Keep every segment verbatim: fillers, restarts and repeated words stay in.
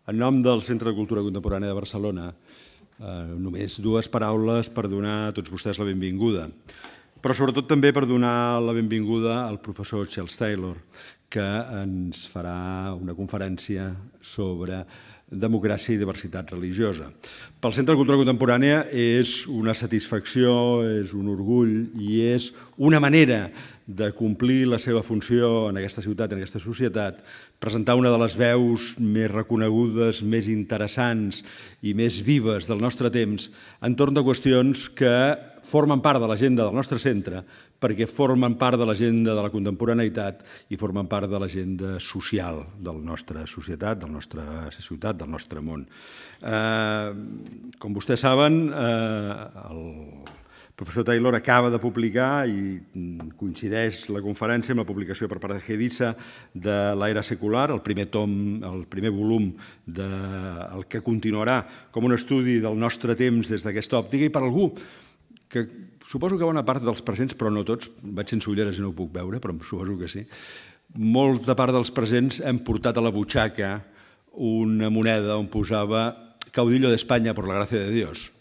En nom del Centre de Cultura Contemporània de Barcelona, només dues paraules per donar a tots vostès la benvinguda, però sobretot també per donar la benvinguda al professor Charles Taylor, que ens farà una conferència sobre democràcia i diversitat religiosa. Pel Centre de Cultura Contemporània és una satisfacció, és un orgull i és una manera de complir la seva funció en aquesta ciutat, en aquesta societat, presentar una de les veus més reconegudes, més interessants i més vives del nostre temps entorn de qüestions que formen part de l'agenda del nostre centre, perquè formen part de l'agenda de la contemporaneïtat i formen part de l'agenda social de la nostra societat, de la nostra ciutat, del nostre món. Com vostès saben, el professor Taylor acaba de publicar, i coincideix la conferència amb la publicació per part de Gedisa de l'Era Secular, el primer tom, el primer volum del que continuarà com un estudi del nostre temps des d'aquesta òptica, i per algú que suposo que bona part dels presents, però no tots, vaig sense ulleres i no ho puc veure, però suposo que sí, molta part dels presents hem portat a la butxaca una moneda on posava «Caudillo de España por la gracia de Dios».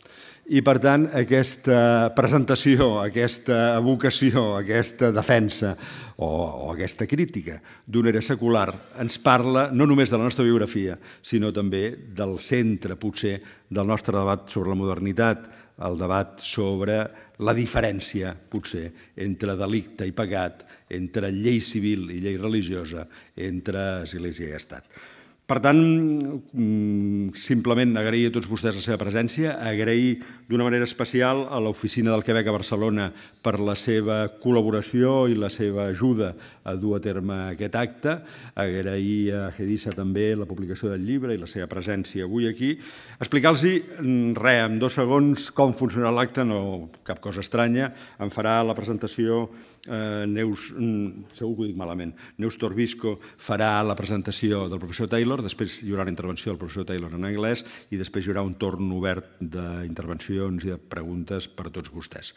I, per tant, aquesta presentació, aquesta evocació, aquesta defensa o aquesta crítica d'una era secular ens parla no només de la nostra biografia, sinó també del centre, potser, del nostre debat sobre la modernitat, el debat sobre la diferència, potser, entre delicte i pecat, entre llei civil i llei religiosa, entre església i estat. Per tant, simplement agrair a tots vostès la seva presència, agrair d'una manera especial a l'Oficina del Quebec a Barcelona per la seva col·laboració i la seva ajuda a dur a terme aquest acte, agrair a Gedisa també la publicació del llibre i la seva presència avui aquí, explicar-los res, en dos segons, com funcionarà l'acte, no cap cosa estranya, em farà la presentació Neus, segur que ho dic malament, Neus Torbisco farà la presentació del professor Taylor, després hi haurà la intervenció del professor Taylor en anglès i després hi haurà un torn obert d'intervencions i de preguntes per a tots vostès.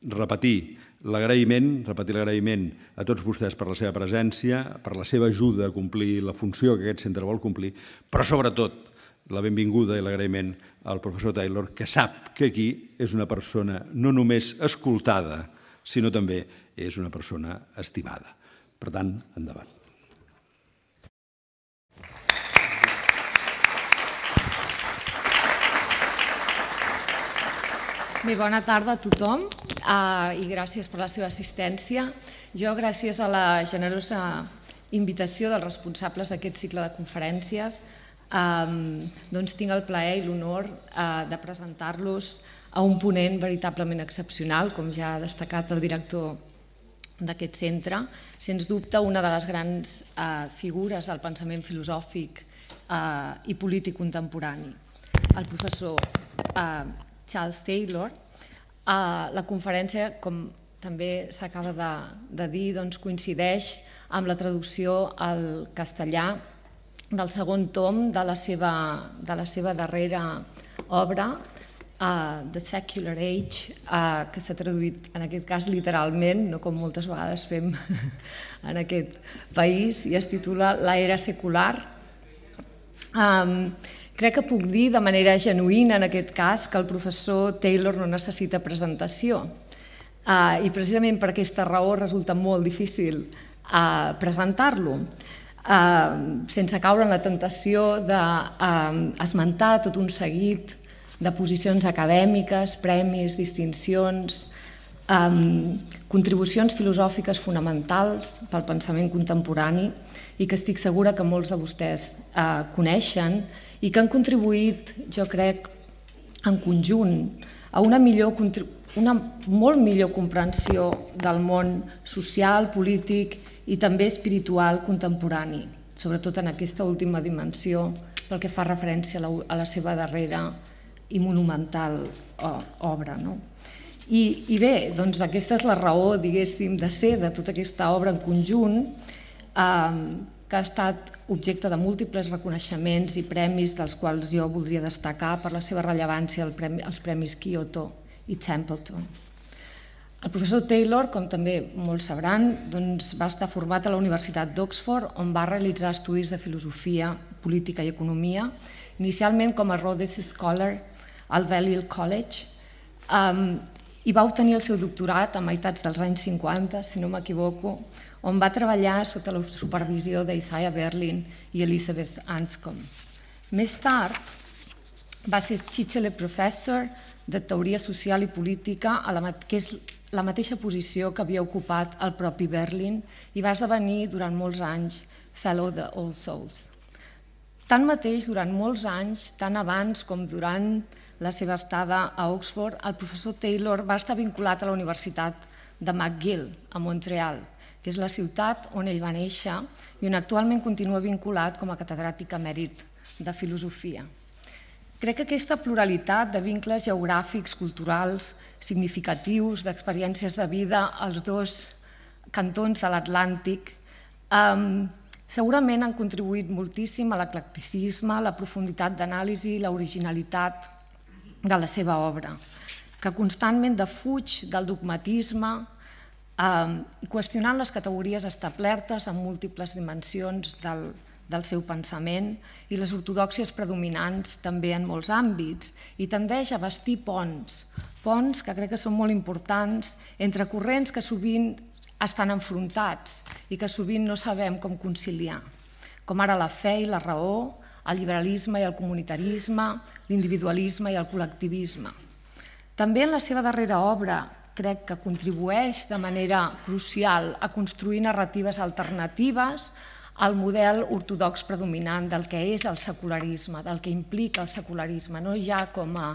Repetir l'agraïment, repetir l'agraïment a tots vostès per la seva presència, per la seva ajuda a complir la funció que aquest centre vol complir, però sobretot la benvinguda i l'agraïment al professor Taylor, que sap que aquí és una persona no només escoltada, sinó també és una persona estimada. Per tant, endavant. Bé, bona tarda a tothom i gràcies per la seva assistència. Jo, gràcies a la generosa invitació dels responsables d'aquest cicle de conferències, doncs tinc el plaer i l'honor de presentar-los a un ponent veritablement excepcional, com ja ha destacat el director d'aquest centre, sens dubte una de les grans figures del pensament filosòfic i polític contemporani, el professor Charles Taylor. La conferència, com també s'acaba de dir, coincideix amb la traducció al castellà del segon tom de la seva darrera obra, The Secular Age, que s'ha traduït en aquest cas literalment, no com moltes vegades fem en aquest país, i es titula La Era Secular. Crec que puc dir de manera genuïna en aquest cas que el professor Taylor no necessita presentació i precisament per aquesta raó resulta molt difícil presentar-lo, sense caure en la tentació d'esmentar tot un seguit de posicions acadèmiques, premis, distincions, contribucions filosòfiques fonamentals pel pensament contemporani i que estic segura que molts de vostès coneixen i que han contribuït, jo crec, en conjunt a una millor una molt millor comprensió del món social, polític i també espiritual contemporani, sobretot en aquesta última dimensió pel que fa referència a la seva darrera i monumental obra. I bé, doncs aquesta és la raó, diguéssim, de ser de tota aquesta obra en conjunt, que ha estat objecte de múltiples reconeixements i premis, dels quals jo voldria destacar per la seva rellevància els premis Kyoto i Templeton. El professor Taylor, com també molts sabran, va estar format a la Universitat d'Oxford, on va realitzar estudis de filosofia, política i economia, inicialment com a Rhodes Scholar al Balliol College, i va obtenir el seu doctorat a meitats dels anys cinquanta, si no m'equivoco, on va treballar sota la supervisió d'Isaiah Berlin i Elizabeth Anscombe. Més tard, va ser Chichele Professor de Teoria Social i Política, que és la mateixa posició que havia ocupat el propi Berlin i va esdevenir durant molts anys Fellow de All Souls. Tanmateix, durant molts anys, tant abans com durant la seva estada a Oxford, el professor Taylor va estar vinculat a la Universitat de McGill, a Montreal, que és la ciutat on ell va néixer i on actualment continua vinculat com a catedràtic emèrit de filosofia. Crec que aquesta pluralitat de vincles geogràfics, culturals, significatius, d'experiències de vida als dos cantons de l'Atlàntic segurament han contribuït moltíssim a l'eclecticisme, la profunditat d'anàlisi i l'originalitat de la seva obra, que constantment defuig del dogmatisme i qüestionant les categories establertes en múltiples dimensions del del seu pensament i les ortodòxies predominants també en molts àmbits i tendeix a bastir ponts, ponts que crec que són molt importants entre corrents que sovint estan enfrontats i que sovint no sabem com conciliar, com ara la fe i la raó, el liberalisme i el comunitarisme, l'individualisme i el col·lectivisme. També en la seva darrera obra crec que contribueix de manera crucial a construir narratives alternatives al model ortodox predominant del que és el secularisme, del que implica el secularisme, no ja com a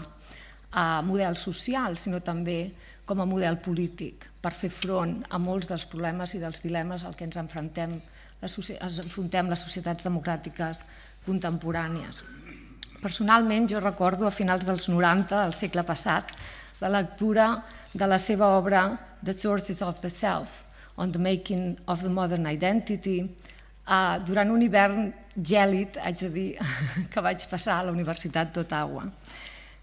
model social, sinó també com a model polític, per fer front a molts dels problemes i dels dilemes al que ens enfrontem les societats democràtiques contemporànies. Personalment, jo recordo a finals dels noranta del segle passat la lectura de la seva obra The Sources of the Self, on the Making of the Modern Identity, durant un hivern gèlid, haig de dir, que vaig passar a la Universitat d'Ottawa.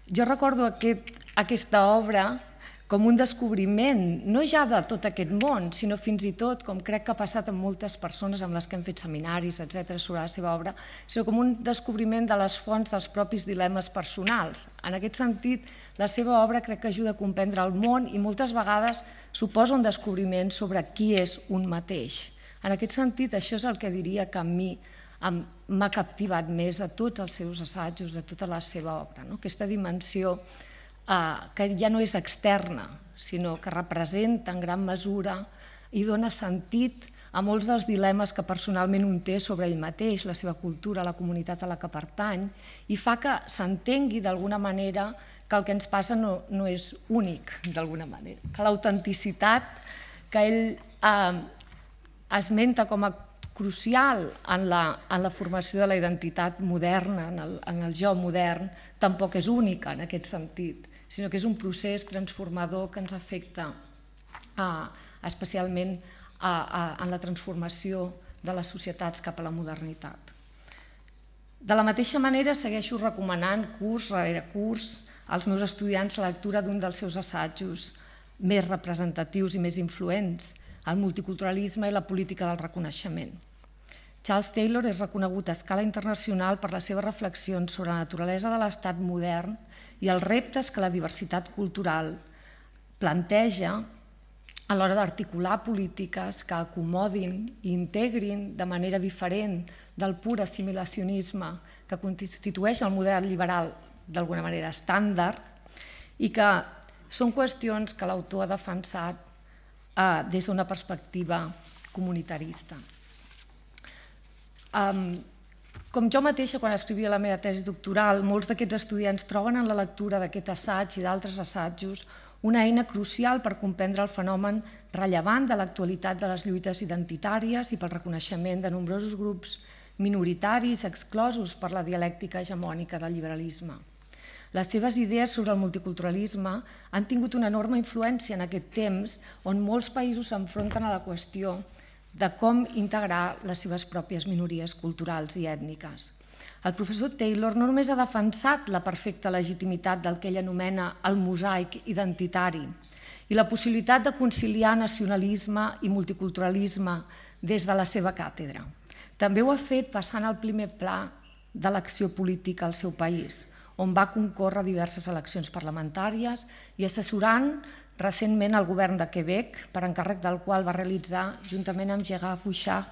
Jo recordo aquesta obra com un descobriment, no ja de tot aquest món, sinó fins i tot, com crec que ha passat amb moltes persones amb les que hem fet seminaris, etcètera, sobre la seva obra, sinó com un descobriment de les fonts dels propis dilemes personals. En aquest sentit, la seva obra crec que ajuda a comprendre el món i moltes vegades suposa un descobriment sobre qui és un mateix. En aquest sentit, això és el que diria que a mi m'ha captivat més de tots els seus assajos, de tota la seva obra. Aquesta dimensió que ja no és externa, sinó que representa en gran mesura i dona sentit a molts dels dilemes que personalment un té sobre ell mateix, la seva cultura, la comunitat a la que pertany, i fa que s'entengui d'alguna manera que el que ens passa no és únic, d'alguna manera, que l'autenticitat que ell esmenta com a crucial en la formació de la identitat moderna, en el jo modern, tampoc és única en aquest sentit, sinó que és un procés transformador que ens afecta especialment en la transformació de les societats cap a la modernitat. De la mateixa manera, segueixo recomanant curs rere curs als meus estudiants la lectura d'un dels seus assajos més representatius i més influents, el multiculturalisme i la política del reconeixement. Charles Taylor és reconegut a escala internacional per les seves reflexions sobre la naturalesa de l'estat modern i els reptes que la diversitat cultural planteja a l'hora d'articular polítiques que acomodin i integrin de manera diferent del pur assimilacionisme que constitueix el model liberal d'alguna manera estàndard i que són qüestions que l'autor ha defensat des d'una perspectiva comunitarista. Com jo mateixa, quan escrivia la meva tesi doctoral, molts d'aquests estudiants troben en la lectura d'aquest assaig i d'altres assajos una eina crucial per comprendre el fenomen rellevant de l'actualitat de les lluites identitàries i pel reconeixement de nombrosos grups minoritaris exclosos per la dialèctica hegemònica del liberalisme. Les seves idees sobre el multiculturalisme han tingut una enorme influència en aquest temps on molts països s'enfronten a la qüestió de com integrar les seves pròpies minories culturals i ètniques. El professor Taylor no només ha defensat la perfecta legitimitat del que ell anomena el mosaic identitari i la possibilitat de conciliar nacionalisme i multiculturalisme des de la seva càtedra. També ho ha fet passant al primer pla de l'acció política al seu país, on va concórrer diverses eleccions parlamentàries i assessorant recentment el govern de Quebec, per encàrrec del qual va realitzar, juntament amb Gérard Bouchard,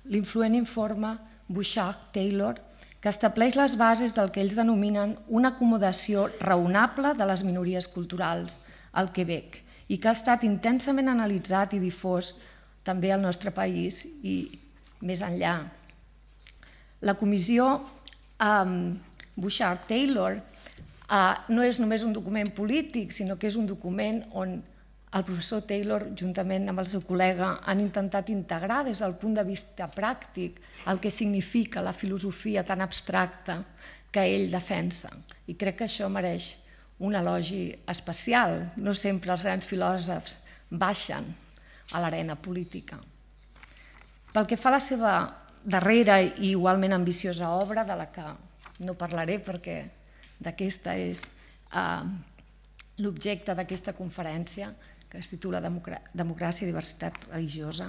l'influent informe Bouchard-Taylor, que estableix les bases del que ells denominen una acomodació raonable de les minories culturals al Quebec i que ha estat intensament analitzat i difós també al nostre país i més enllà. La comissió Bouchard-Taylor no és només un document polític, sinó que és un document on el professor Taylor, juntament amb el seu col·lega, han intentat integrar des del punt de vista pràctic el que significa la filosofia tan abstracta que ell defensa. I crec que això mereix un elogi especial. No sempre els grans filòsofs baixen a l'arena política. Pel que fa a la seva darrera i igualment ambiciosa obra, de la que no parlaré perquè d'aquesta és l'objecte d'aquesta conferència, que es titula Democràcia i diversitat religiosa.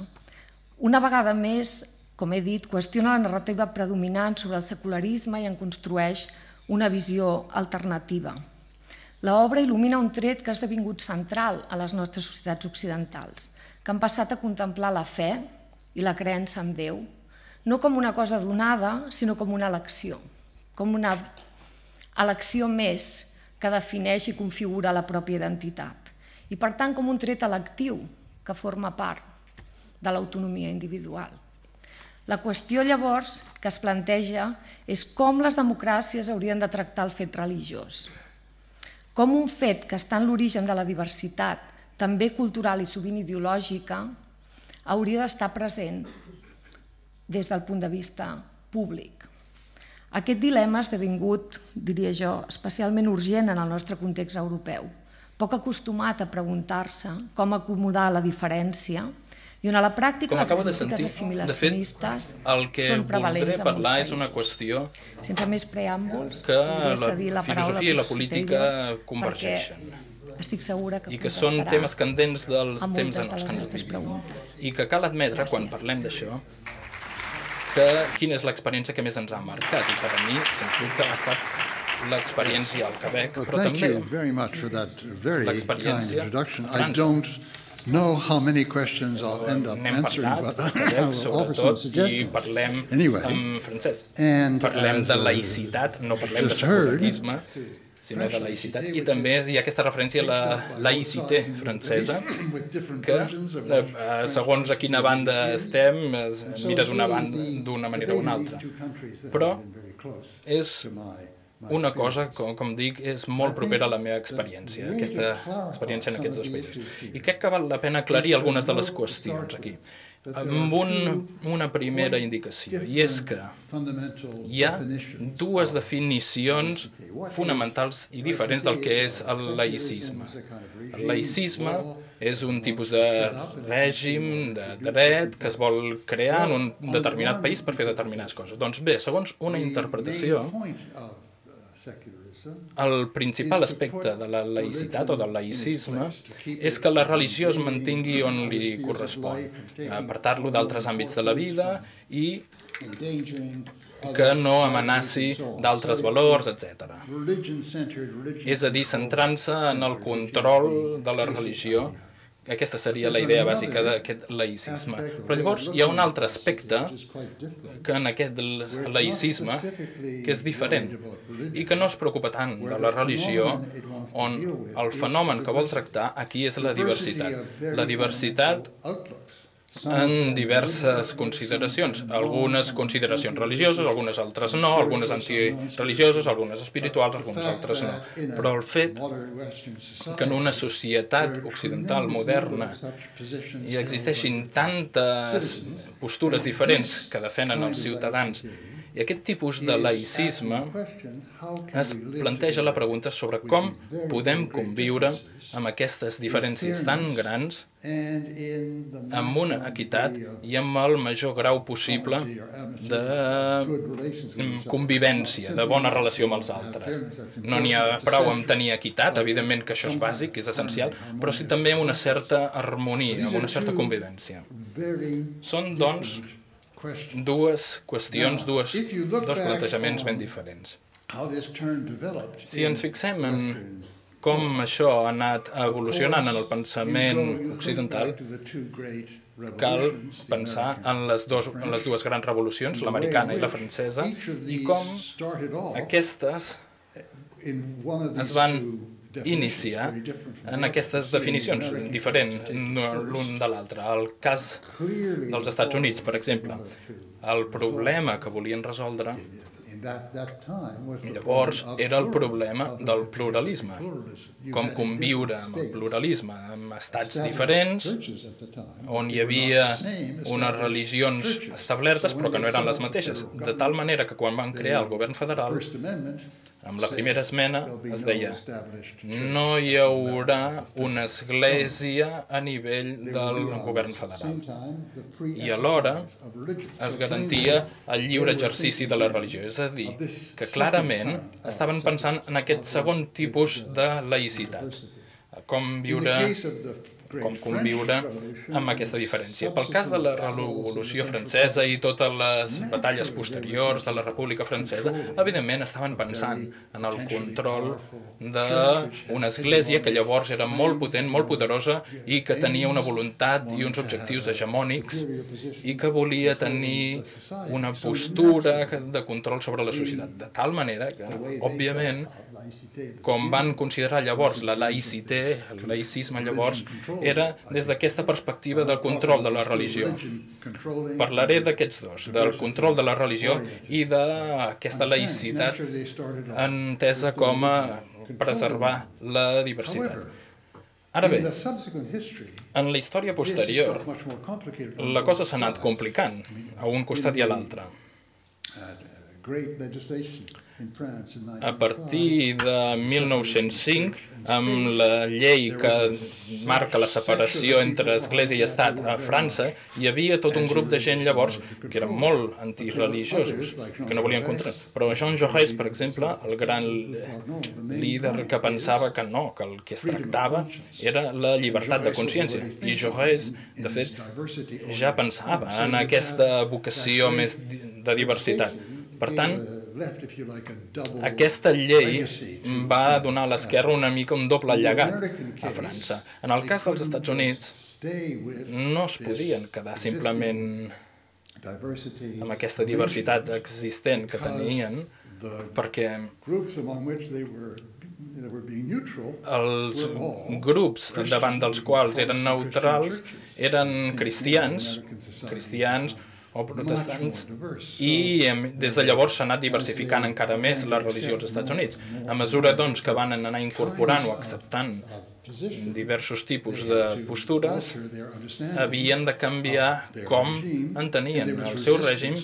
Una vegada més, com he dit, qüestiona la narrativa predominant sobre el secularisme i en construeix una visió alternativa. L'obra il·lumina un tret que ha esdevingut central a les nostres societats occidentals, que han passat a contemplar la fe i la creença en Déu, no com una cosa donada, sinó com una elecció, com una elecció més que defineix i configura la pròpia identitat, i per tant com un tret electiu que forma part de l'autonomia individual. La qüestió llavors que es planteja és com les democràcies haurien de tractar el fet religiós, com un fet que està en l'origen de la diversitat, també cultural i sovint ideològica, hauria d'estar present des del punt de vista públic. Aquest dilema ha esdevingut, diria jo, especialment urgent en el nostre context europeu, poc acostumat a preguntar-se com acomodar la diferència i on a la pràctica les polítiques assimilacionistes són prevalents en molts països. Parlar és una qüestió sense més preàmbuls, que la filosofia i la política convergeixen. Estic segura que i que són temes candents dels temps en els que ens vivim. I que cal admetre, quan parlem d'això, que quina és l'experiència que més ens ha marcat. I per a mi, sens dubte, ha estat l'experiència al Quebec, però també l'experiència a França. know how many questions I'll end up answering, but I'll offer some suggestions. Anyway, and parlem de laïcitat, no parlem de secularisme, sinó de laïcitat. I també hi ha aquesta referència a la laïcité francesa, que segons a quina banda estem, mires una banda d'una manera o una altra. Però és una cosa, com, com dic, és molt propera a la meva experiència, aquesta experiència en aquests dos països. I crec que val la pena aclarir algunes de les qüestions aquí, amb un, una primera indicació, i és que hi ha dues definicions fonamentals i diferents del que és el laïcisme. El laïcisme és un tipus de règim, de dret, que es vol crear en un determinat país per fer determinades coses. Doncs bé, segons una interpretació, el principal aspecte de la laïcitat o del laïcisme és que la religió es mantingui on li correspon, apartar-lo d'altres àmbits de la vida i que no amenaci d'altres valors, etcètera. És a dir, centrant-se en el control de la religió. Aquesta seria la idea bàsica d'aquest laïcisme. Però llavors hi ha un altre aspecte que en aquest laïcisme que és diferent i que no es preocupa tant de la religió, on el fenomen que vol tractar aquí és la diversitat. La diversitat en diverses consideracions, algunes consideracions religioses, algunes altres no, algunes antireligioses, algunes espirituals, algunes altres no. Però el fet que en una societat occidental moderna hi existeixin tantes postures diferents que defenen els ciutadans, i aquest tipus de laïcisme es planteja la pregunta sobre com podem conviure amb aquestes diferències tan grans, amb una equitat i amb el major grau possible de convivència, de bona relació amb els altres. No n'hi ha prou amb tenir equitat, evidentment que això és bàsic, és essencial, però sí també amb una certa harmonia, amb una certa convivència. Són, doncs, dues qüestions, dues, dos plantejaments ben diferents. Si ens fixem en com això ha anat evolucionant en el pensament occidental, cal pensar en les, dos, en les dues grans revolucions, l'americana i la francesa, i com aquestes es van iniciar en aquestes definicions diferents l'un de l'altre. El cas dels Estats Units, per exemple, el problema que volien resoldre llavors era el problema del pluralisme, com conviure amb el pluralisme, amb estats diferents, on hi havia unes religions establertes però que no eren les mateixes, de tal manera que quan van crear el govern federal, amb la primera esmena es deia no hi haurà una església a nivell del govern federal. I alhora es garantia el lliure exercici de la religió. És a dir, que clarament estaven pensant en aquest segon tipus de laïcitat. Com viure, com conviure amb aquesta diferència. Pel cas de la Revolució Francesa i totes les batalles posteriors de la República Francesa, evidentment estaven pensant en el control d'una església que llavors era molt potent, molt poderosa i que tenia una voluntat i uns objectius hegemònics i que volia tenir una postura de control sobre la societat. De tal manera que, òbviament, com van considerar llavors la laïcité, el laïcisme llavors, era des d'aquesta perspectiva del control de la religió. Parlaré d'aquests dos, del control de la religió i d'aquesta laïcitat entesa com a preservar la diversitat. Ara bé, en la història posterior, la cosa s'ha anat complicant a un costat i a l'altre. A partir de mil nou-cents cinc, amb la llei que marca la separació entre Església i Estat a França, hi havia tot un grup de gent llavors que eren molt antireligiosos, que no volien contra. Però Jean Jaurès, per exemple, el gran líder que pensava que no, que el que es tractava era la llibertat de consciència. I Jaurès, de fet, ja pensava en aquesta vocació més de diversitat. Per tant, aquesta llei va donar a l'esquerra una mica un doble llegat a França. En el cas dels Estats Units, no es podien quedar simplement amb aquesta diversitat existent que tenien, perquè els grups davant dels quals eren neutrals eren cristians, cristians, o protestants, i des de llavors s'ha anat diversificant encara més la religió als Estats Units. A mesura doncs, que van anar incorporant o acceptant diversos tipus de postures, havien de canviar com entenien el seu règim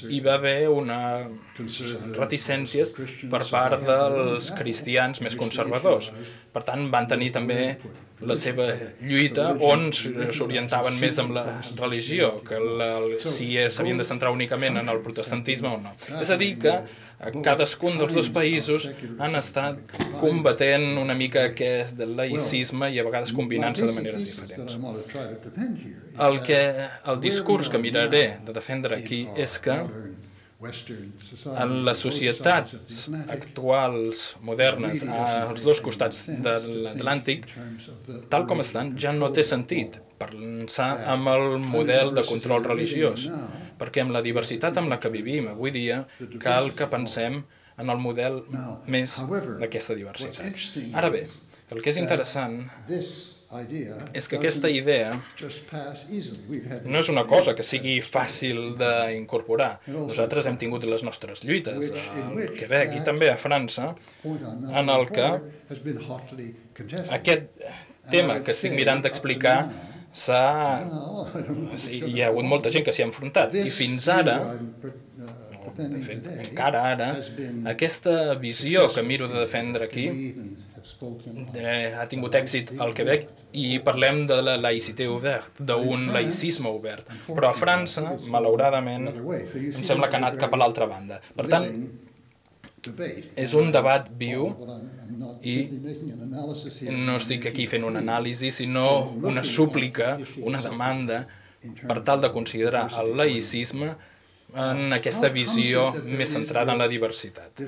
i va haver una reticències per part dels cristians més conservadors. Per tant, van tenir també la seva lluita on s'orientaven més amb la religió, que si s'havien de centrar únicament en el protestantisme o no. És a dir, que cadascun dels dos països han estat combatent una mica aquest laïcisme i a vegades combinant-se de maneres diferents. El, que, el discurs que miraré de defendre aquí és que en les societats actuals, modernes, als dos costats de l'Atlàntic, tal com estan, ja no té sentit pensar en el model de control religiós, perquè amb la diversitat amb la que vivim avui dia cal que pensem en el model més d'aquesta diversitat. Ara bé, el que és interessant és que aquesta idea no és una cosa que sigui fàcil d'incorporar. Nosaltres hem tingut les nostres lluites al Quebec i també a França, en el que aquest tema que estic mirant d'explicar s'ha... hi ha hagut molta gent que s'hi ha enfrontat. I fins ara, de fet, encara ara, aquesta visió que miro de defendre aquí ha tingut èxit al Quebec i parlem de la laïcité ouverte, d'un laïcisme obert. Però a França, malauradament, em sembla que ha anat cap a l'altra banda. Per tant, és un debat viu i no estic aquí fent una anàlisi, sinó una súplica, una demanda per tal de considerar el laïcisme en aquesta visió més centrada en la diversitat.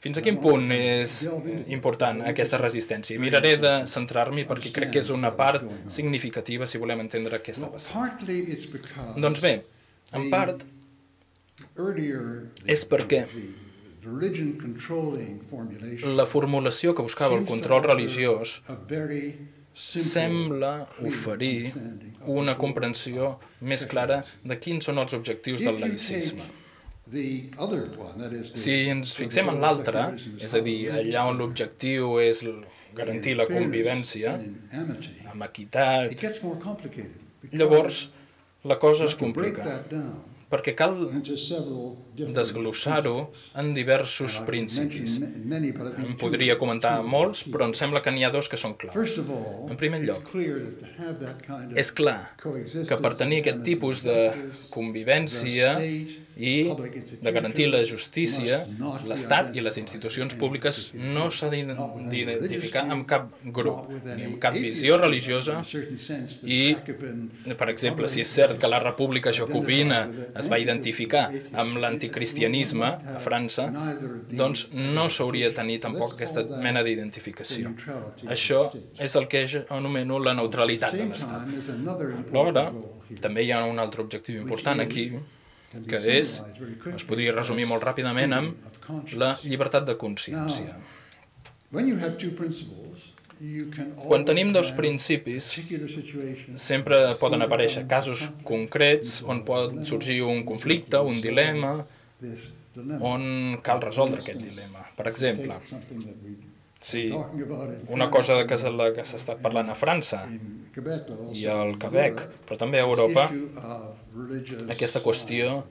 Fins a quin punt és important aquesta resistència? Miraré de centrar-m'hi perquè crec que és una part significativa si volem entendre què està passant. Doncs bé, en part, és perquè la formulació que buscava el control religiós sembla oferir una comprensió més clara de quins són els objectius del laïcisme. Si ens fixem en l'altre, és a dir, allà on l'objectiu és garantir la convivència, amb equitat, llavors la cosa es complica, perquè cal desglossar-ho en diversos principis. En podria comentar molts, però em sembla que n'hi ha dos que són claus. En primer lloc, és clar que per tenir aquest tipus de convivència i de garantir la justícia, l'Estat i les institucions públiques no s'ha d'identificar amb cap grup, ni amb cap visió religiosa i, per exemple, si és cert que la República Jacobina es va identificar amb l'anticristianisme a França, doncs no s'hauria de tenir tampoc aquesta mena d'identificació. Això és el que jo anomeno la neutralitat de l'Estat. Alhora, també hi ha un altre objectiu important aquí, que és, es podria resumir molt ràpidament amb la llibertat de consciència. Quan tenim dos principis, sempre poden aparèixer casos concrets on pot sorgir un conflicte, un dilema, on cal resoldre aquest dilema. Per exemple, si una cosa que s'ha estat parlant a França i al Quebec, però també a Europa, aquesta qüestió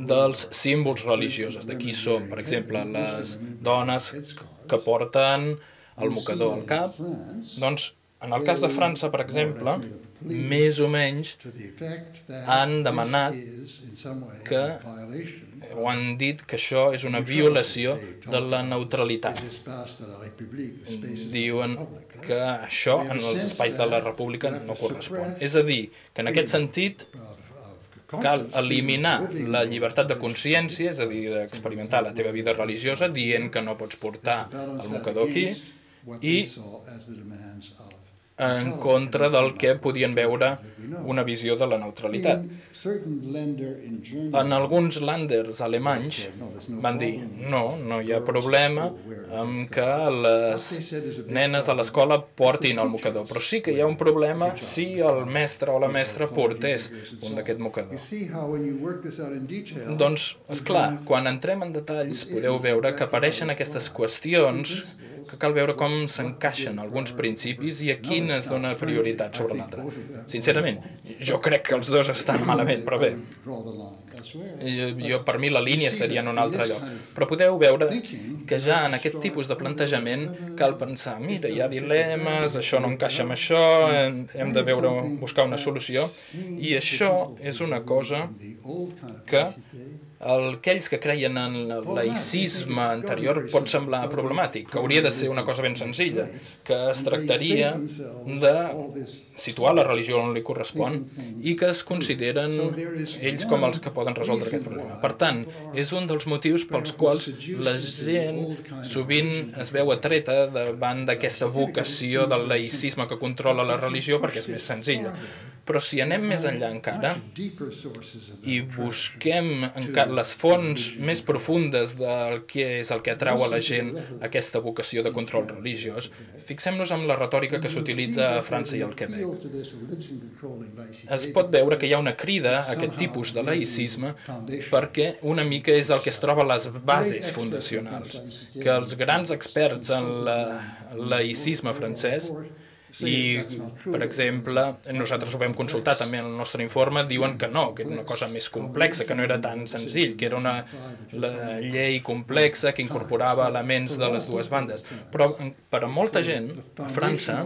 dels símbols religiosos, de qui són, per exemple, les dones que porten el mocador al cap, doncs, en el cas de França, per exemple, més o menys han demanat que o han dit que això és una violació de la neutralitat. Diuen que això en els espais de la República no correspon. És a dir, que en aquest sentit cal eliminar la llibertat de consciència, és a dir, d'experimentar la teva vida religiosa, dient que no pots portar el mocador aquí, i en contra del que podien veure una visió de la neutralitat. En alguns länders alemanys van dir no, no hi ha problema amb que les nenes a l'escola portin el mocador, però sí que hi ha un problema si el mestre o la mestra portés un d'aquest mocador. Doncs, esclar, quan entrem en detalls podeu veure que apareixen aquestes qüestions que cal veure com s'encaixen alguns principis i a quin es dona prioritat sobre l'altre. Sincerament, jo crec que els dos estan malament, però bé, jo, per mi la línia estaria en un altre lloc. Però podeu veure que ja en aquest tipus de plantejament cal pensar, mira, hi ha dilemes, això no encaixa amb això, hem de veure, buscar una solució, i això és una cosa que aquells que creien en el laïcisme anterior pot semblar problemàtic, que hauria de ser una cosa ben senzilla, que es tractaria de situar la religió on li correspon i que es consideren ells com els que poden resoldre aquest problema. Per tant, és un dels motius pels quals la gent sovint es veu atreta davant d'aquesta vocació del laïcisme que controla la religió perquè és més senzilla. Però si anem més enllà encara i busquem les fonts més profundes del que és el que atrau a la gent aquesta vocació de control religiós, fixem-nos en la retòrica que s'utilitza a França i al Quebec. Es pot veure que hi ha una crida a aquest tipus de laïcisme perquè una mica és el que es troba a les bases fundacionals, que els grans experts en el laïcisme francès I, per exemple, nosaltres ho vam consultar també en el nostre informe, diuen que no, que era una cosa més complexa, que no era tan senzill, que era una llei complexa que incorporava elements de les dues bandes. Però per a molta gent, a França,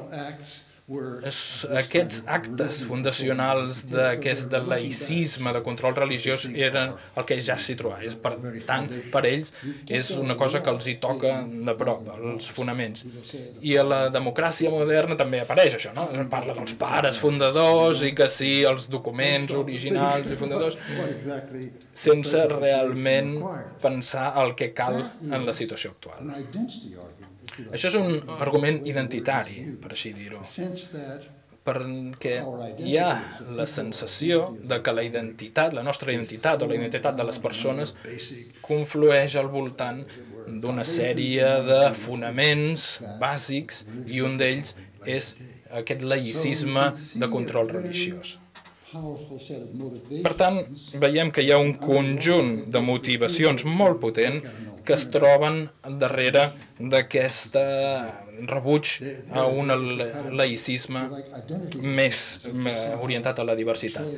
aquests actes fundacionals d'aquest laïcisme, de control religiós, eren el que ja s'hi trobava. Per tant, per ells és una cosa que els hi toca de prop, els fonaments. I a la democràcia moderna també apareix això, no? Parla dels pares fundadors i que sí, els documents originals i fundadors, sense realment pensar el que cal en la situació actual. Això és un argument identitari, per així dir-ho, perquè hi ha la sensació de que la identitat, la nostra identitat o la identitat de les persones conflueix al voltant d'una sèrie de fonaments bàsics i un d'ells és aquest laïcisme de control religiós. Per tant, veiem que hi ha un conjunt de motivacions molt potent que es troben darrere d'aquest rebuig a un laïcisme més orientat a la diversitat.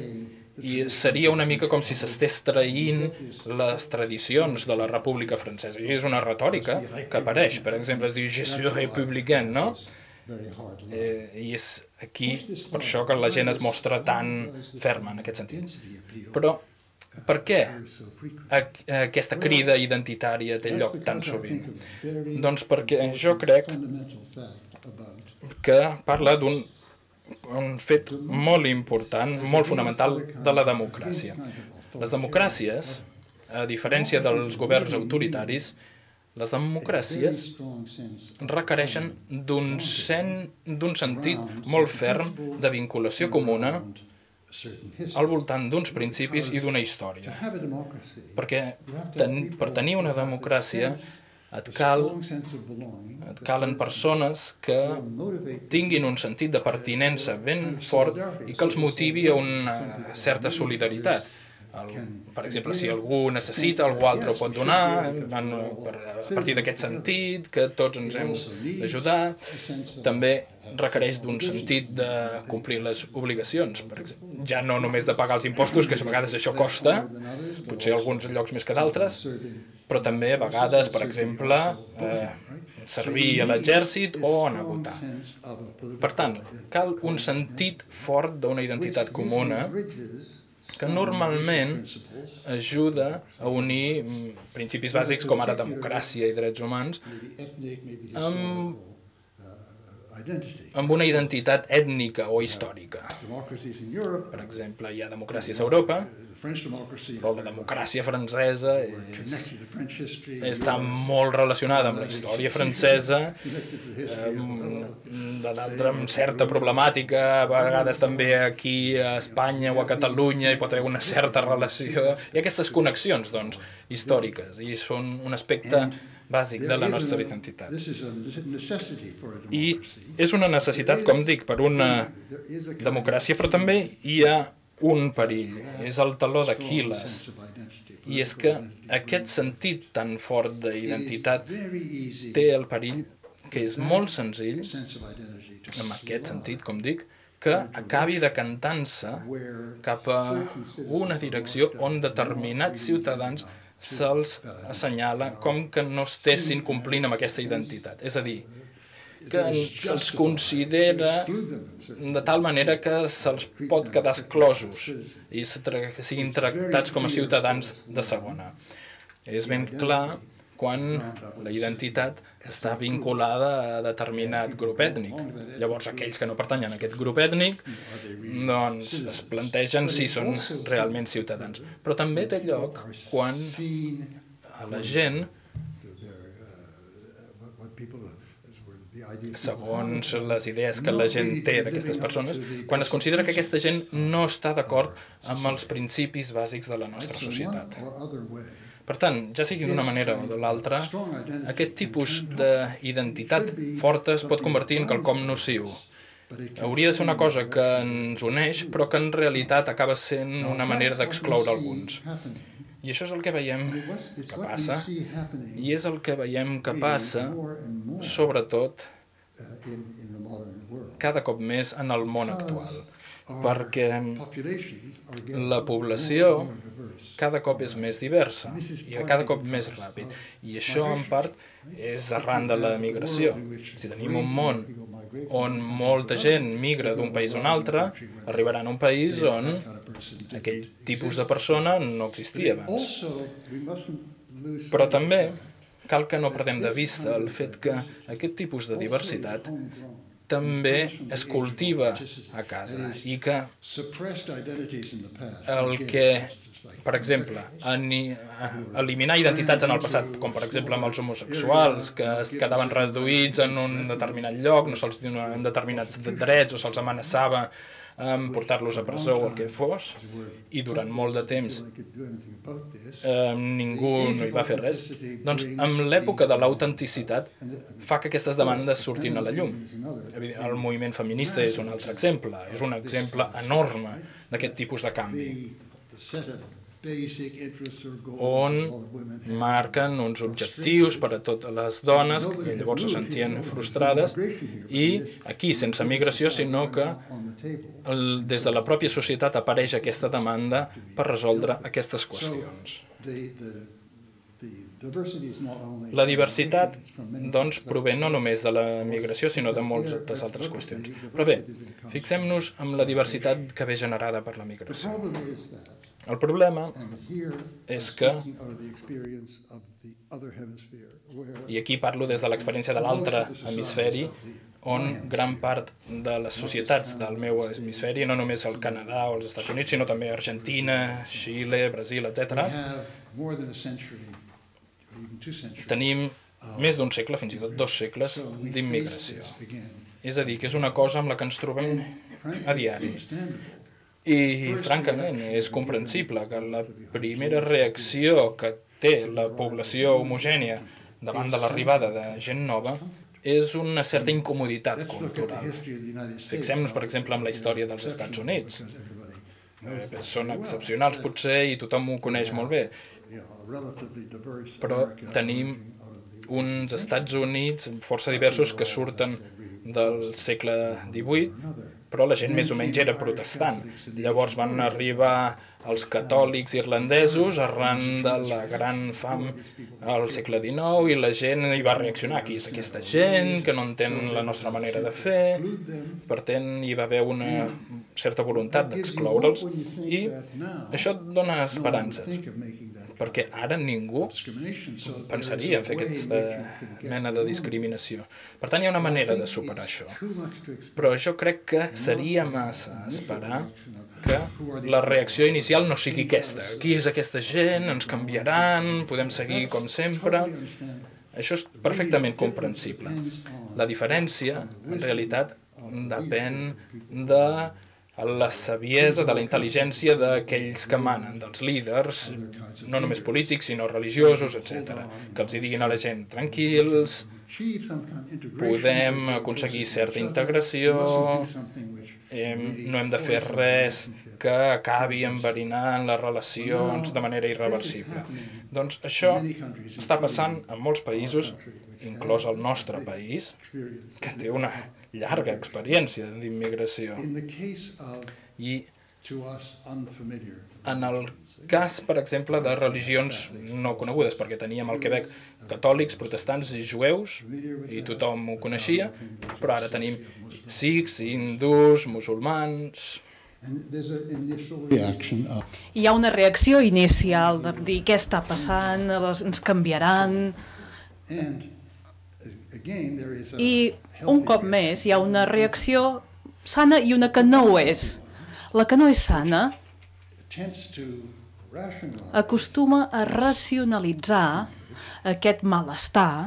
I seria una mica com si s'estés traint les tradicions de la República Francesa. I és una retòrica que apareix. Per exemple, es diu « Je suis républicain», no? I és aquí per això que la gent es mostra tan ferma en aquest sentit. Però per què aquesta crida identitària té lloc tan sovint? Doncs perquè jo crec que parla d'un fet molt important, molt fonamental de la democràcia. Les democràcies, a diferència dels governs autoritaris, les democràcies requereixen d'un sentit molt ferm de vinculació comuna al voltant d'uns principis i d'una història. Perquè per tenir una democràcia et cal, et calen persones que tinguin un sentit de pertinença ben fort i que els motivi a una certa solidaritat. Per exemple, si algú necessita, algú altre ho pot donar, a partir d'aquest sentit, que tots ens hem d'ajudar. També requereix d'un sentit de complir les obligacions, ja no només de pagar els impostos, que a vegades això costa, potser alguns llocs més que d'altres, però també a vegades, per exemple, servir a l'exèrcit o anar a votar. Per tant, cal un sentit fort d'una identitat comuna que normalment ajuda a unir principis bàsics com ara democràcia i drets humans amb, amb una identitat ètnica o històrica. Per exemple, hi ha democràcies a Europa, però la democràcia francesa és, està molt relacionada amb la història francesa, d'altra amb certa problemàtica, a vegades també aquí a Espanya o a Catalunya hi pot haver una certa relació. Hi ha aquestes connexions, doncs, històriques, i són un aspecte bàsic de la nostra identitat. I és una necessitat, com dic, per una democràcia, però també hi ha un perill, és el taló d'Aquil·les, i és que aquest sentit tan fort d'identitat té el perill que és molt senzill, en aquest sentit, com dic, que acabi decantant-se cap a una direcció on determinats ciutadans se'ls assenyala com que no estessin complint amb aquesta identitat. És a dir, que se'ls considera de tal manera que se'ls pot quedar exclosos i siguin tractats com a ciutadans de segona. És ben clar quan la identitat està vinculada a determinat grup ètnic. Llavors, aquells que no pertanyen a aquest grup ètnic doncs es plantegen si són realment ciutadans. Però també té lloc quan a la gent, segons les idees que la gent té d'aquestes persones, quan es considera que aquesta gent no està d'acord amb els principis bàsics de la nostra societat. Per tant, ja sigui d'una manera o de l'altra, aquest tipus d'identitat forta es pot convertir en quelcom nociu. Hauria de ser una cosa que ens uneix, però que en realitat acaba sent una manera d'excloure alguns. I això és el que veiem que passa, i és el que veiem que passa, sobretot, cada cop més en el món actual, perquè la població cada cop és més diversa i cada cop més ràpid. I això, en part, és arran de la migració. Si tenim un món on molta gent migra d'un país a un altre, arribaran a un país on aquell tipus de persona no existia abans. Però també cal que no perdem de vista el fet que aquest tipus de diversitat també es cultiva a casa i que el que, per exemple, eliminar identitats en el passat, com per exemple amb els homosexuals, que es quedaven reduïts en un determinat lloc, no se'ls donaven determinats drets o se'ls amenaçava amb portar-los a presó o el que fos, i durant molt de temps eh, ningú no hi va fer res, doncs amb l'època de l'autenticitat fa que aquestes demandes surtin a la llum. El moviment feminista és un altre exemple, és un exemple enorme d'aquest tipus de canvi, on marquen uns objectius per a totes les dones que llavors se sentien frustrades i aquí sense migració, sinó que el, des de la pròpia societat apareix aquesta demanda per resoldre aquestes qüestions. La diversitat doncs, prové no només de la migració, sinó de moltes altres qüestions. Però bé, fixem-nos en la diversitat que ve generada per la migració. El problema és que, i aquí parlo des de l'experiència de l'altre hemisferi, on gran part de les societats del meu hemisferi, no només el Canadà o els Estats Units, sinó també Argentina, Xile, Brasil, etcètera, tenim més d'un segle, fins i tot dos segles, d'immigració. És a dir, que és una cosa amb la que ens trobem a diari. I, francament, és comprensible que la primera reacció que té la població homogènia davant de l'arribada de gent nova és una certa incomoditat cultural. Fixem-nos, per exemple, en la història dels Estats Units. Són excepcionals, potser, i tothom ho coneix molt bé. Però tenim uns Estats Units força diversos que surten del segle divuit, però la gent més o menys era protestant. Llavors van arribar els catòlics irlandesos arran de la gran fam al segle dinou i la gent hi va reaccionar. Qui és aquesta gent que no entén la nostra manera de fer? Per tant, hi va haver una certa voluntat d'excloure'ls i això et dona esperances, perquè ara ningú pensaria en fer aquesta mena de discriminació. Per tant, hi ha una manera de superar això. Però jo crec que seria massa esperar que la reacció inicial no sigui aquesta. Qui és aquesta gent? Ens canviaran? Podem seguir com sempre? Això és perfectament comprensible. La diferència, en realitat, depèn de la saviesa, de la intel·ligència d'aquells que manen, dels líders, no només polítics, sinó religiosos, etcètera, que els diguin a la gent tranquils, podem aconseguir certa integració, no hem de fer res que acabi enverinant les relacions de manera irreversible. Doncs això està passant en molts països, inclòs el nostre país, que té una llarga experiència d'immigració. I en el cas, per exemple, de religions no conegudes, perquè teníem al Quebec catòlics, protestants i jueus, i tothom ho coneixia, però ara tenim sikhs, hindús, musulmans. Hi ha una reacció inicial de dir què està passant, ens canviaran. I un cop més hi ha una reacció sana i una que no ho és. La que no és sana acostuma a racionalitzar aquest malestar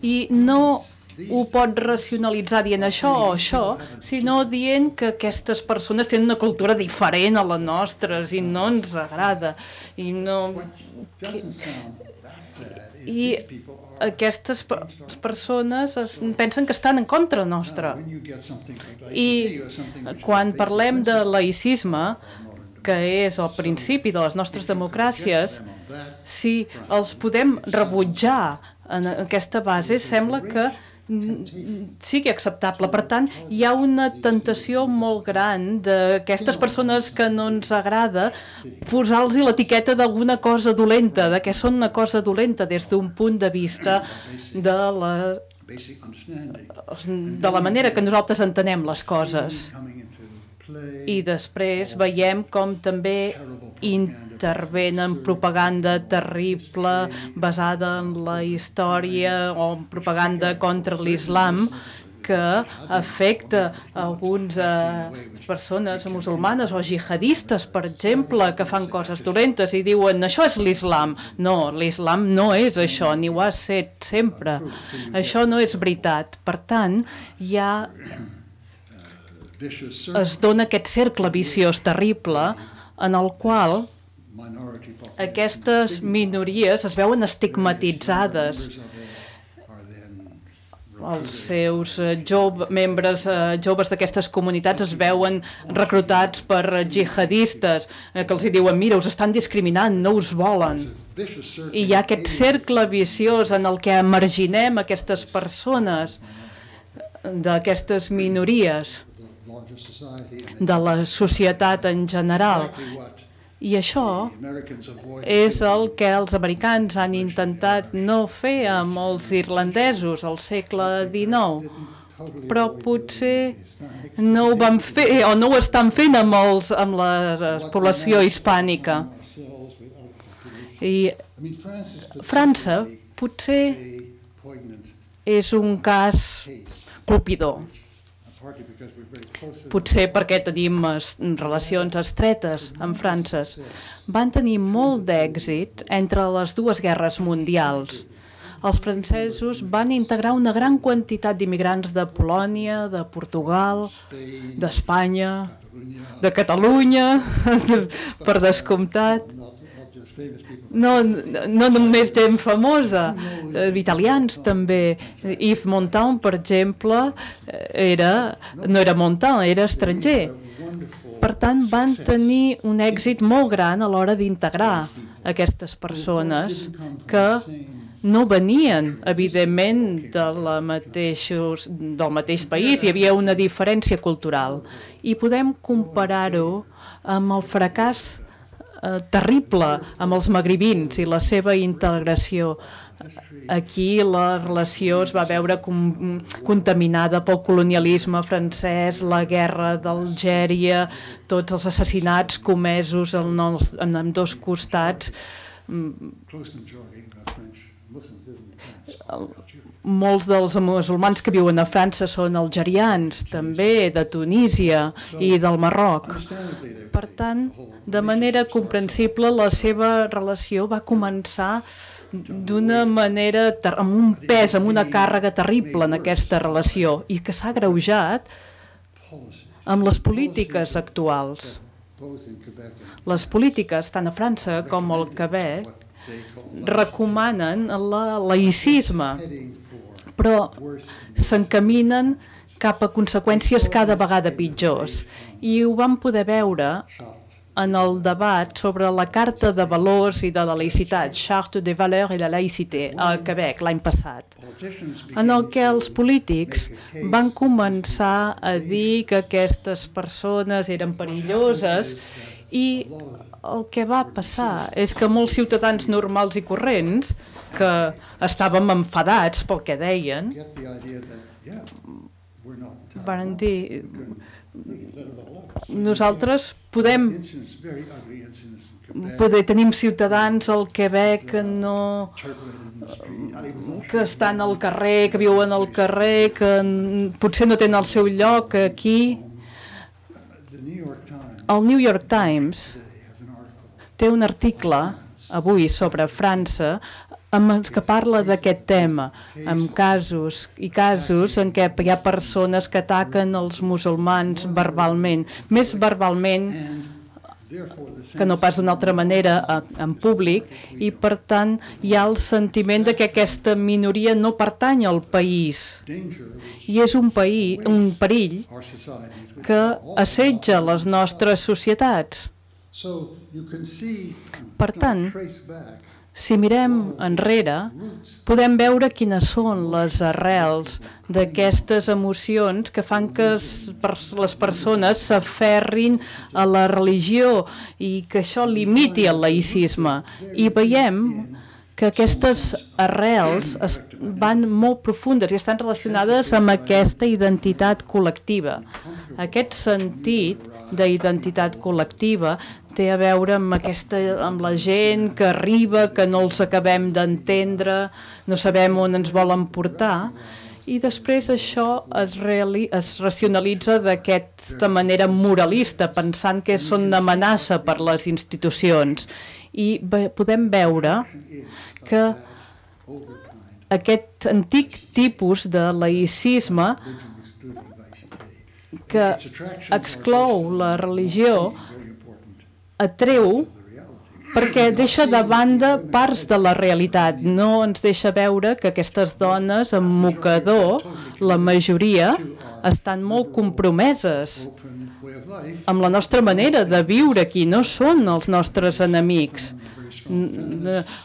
i no ho pot racionalitzar dient això o això, sinó dient que aquestes persones tenen una cultura diferent a la nostra i no ens agrada. I no... I aquestes persones pensen que estan en contra nostra. I quan parlem de laïcisme, que és el principi de les nostres democràcies, si els podem rebutjar en aquesta base sembla que sigui acceptable. Per tant, hi ha una tentació molt gran d'aquestes persones que no ens agrada posar-los l'etiqueta d'alguna cosa dolenta, de que són una cosa dolenta des d'un punt de vista de la, de la manera que nosaltres entenem les coses. I després veiem com també intervenen propaganda terrible basada en la història o propaganda contra l'islam que afecta algunes eh, persones musulmanes o jihadistes, per exemple, que fan coses dolentes i diuen això és l'islam. No, l'islam no és això, ni ho ha estat sempre. Això no és veritat. Per tant, hi ha... es dona aquest cercle viciós terrible en el qual aquestes minories es veuen estigmatitzades. Els seus jove, membres eh, joves d'aquestes comunitats es veuen reclutats per jihadistes eh, que els diuen, mira, us estan discriminant, no us volen. I hi ha aquest cercle viciós en el que marginem aquestes persones d'aquestes minories de la societat en general. I això és el que els americans han intentat no fer amb els irlandesos al segle dinou, però potser no ho van fer o no ho estan fent amb, els, amb la població hispànica. I França potser és un cas colpidor. Potser perquè tenim relacions estretes amb França. Van tenir molt d'èxit entre les dues guerres mundials. Els francesos van integrar una gran quantitat d'immigrants de Polònia, de Portugal, d'Espanya, de Catalunya, per descomptat. No, no només gent famosa, italians també. Yves Montand, per exemple, era, no era Montand, era estranger. Per tant, van tenir un èxit molt gran a l'hora d'integrar aquestes persones que no venien, evidentment, de la mateixos, del mateix país, hi havia una diferència cultural. I podem comparar-ho amb el fracàs terrible amb els magribins i la seva integració. Aquí la relació es va veure com, contaminada pel colonialisme francès, la guerra d'Algèria, tots els assassinats comesos en, els, en ambdós costats. Molts dels musulmans que viuen a França són algerians, també de Tunísia i del Marroc. Per tant, de manera comprensible, la seva relació va començar d'una manera, amb un pes, amb una càrrega terrible en aquesta relació i que s'ha agreujat amb les polítiques actuals. Les polítiques, tant a França com al Quebec, recomanen el laïcisme, però s'encaminen cap a conseqüències cada vegada pitjors. I ho vam poder veure en el debat sobre la Carta de Valors i de la Laïcitat, Charte des Valeurs et la Laïcité, a Quebec l'any passat, en el que els polítics van començar a dir que aquestes persones eren perilloses i el que va passar és que molts ciutadans normals i corrents que estàvem enfadats pel que deien van dir nosaltres podem poder tenim ciutadans al Quebec que no que estan al carrer, que viuen al carrer, que potser no tenen el seu lloc aquí. El New York Times té un article avui sobre França que parla d'aquest tema, amb casos i casos en què hi ha persones que ataquen els musulmans verbalment, més verbalment que no pas d'una altra manera en públic, i per tant hi ha el sentiment de que aquesta minoria no pertany al país i és un, país, un perill que assetja les nostres societats. Per tant, si mirem enrere, podem veure quines són les arrels d'aquestes emocions que fan que les persones s'aferrin a la religió i que això limiti el laïcisme. I veiem que aquestes arrels van molt profundes i estan relacionades amb aquesta identitat col·lectiva. Aquest sentit d'identitat col·lectiva té a veure amb, aquesta, amb la gent que arriba, que no els acabem d'entendre, no sabem on ens volen portar, i després això es, reali es racionalitza d'aquesta manera moralista, pensant que són una amenaça per les institucions. I podem veure que aquest antic tipus de laïcisme que exclou la religió atreu perquè deixa de banda parts de la realitat. No ens deixa veure que aquestes dones amb mocador, la majoria, estan molt compromeses amb la nostra manera de viure aquí. No són els nostres enemics.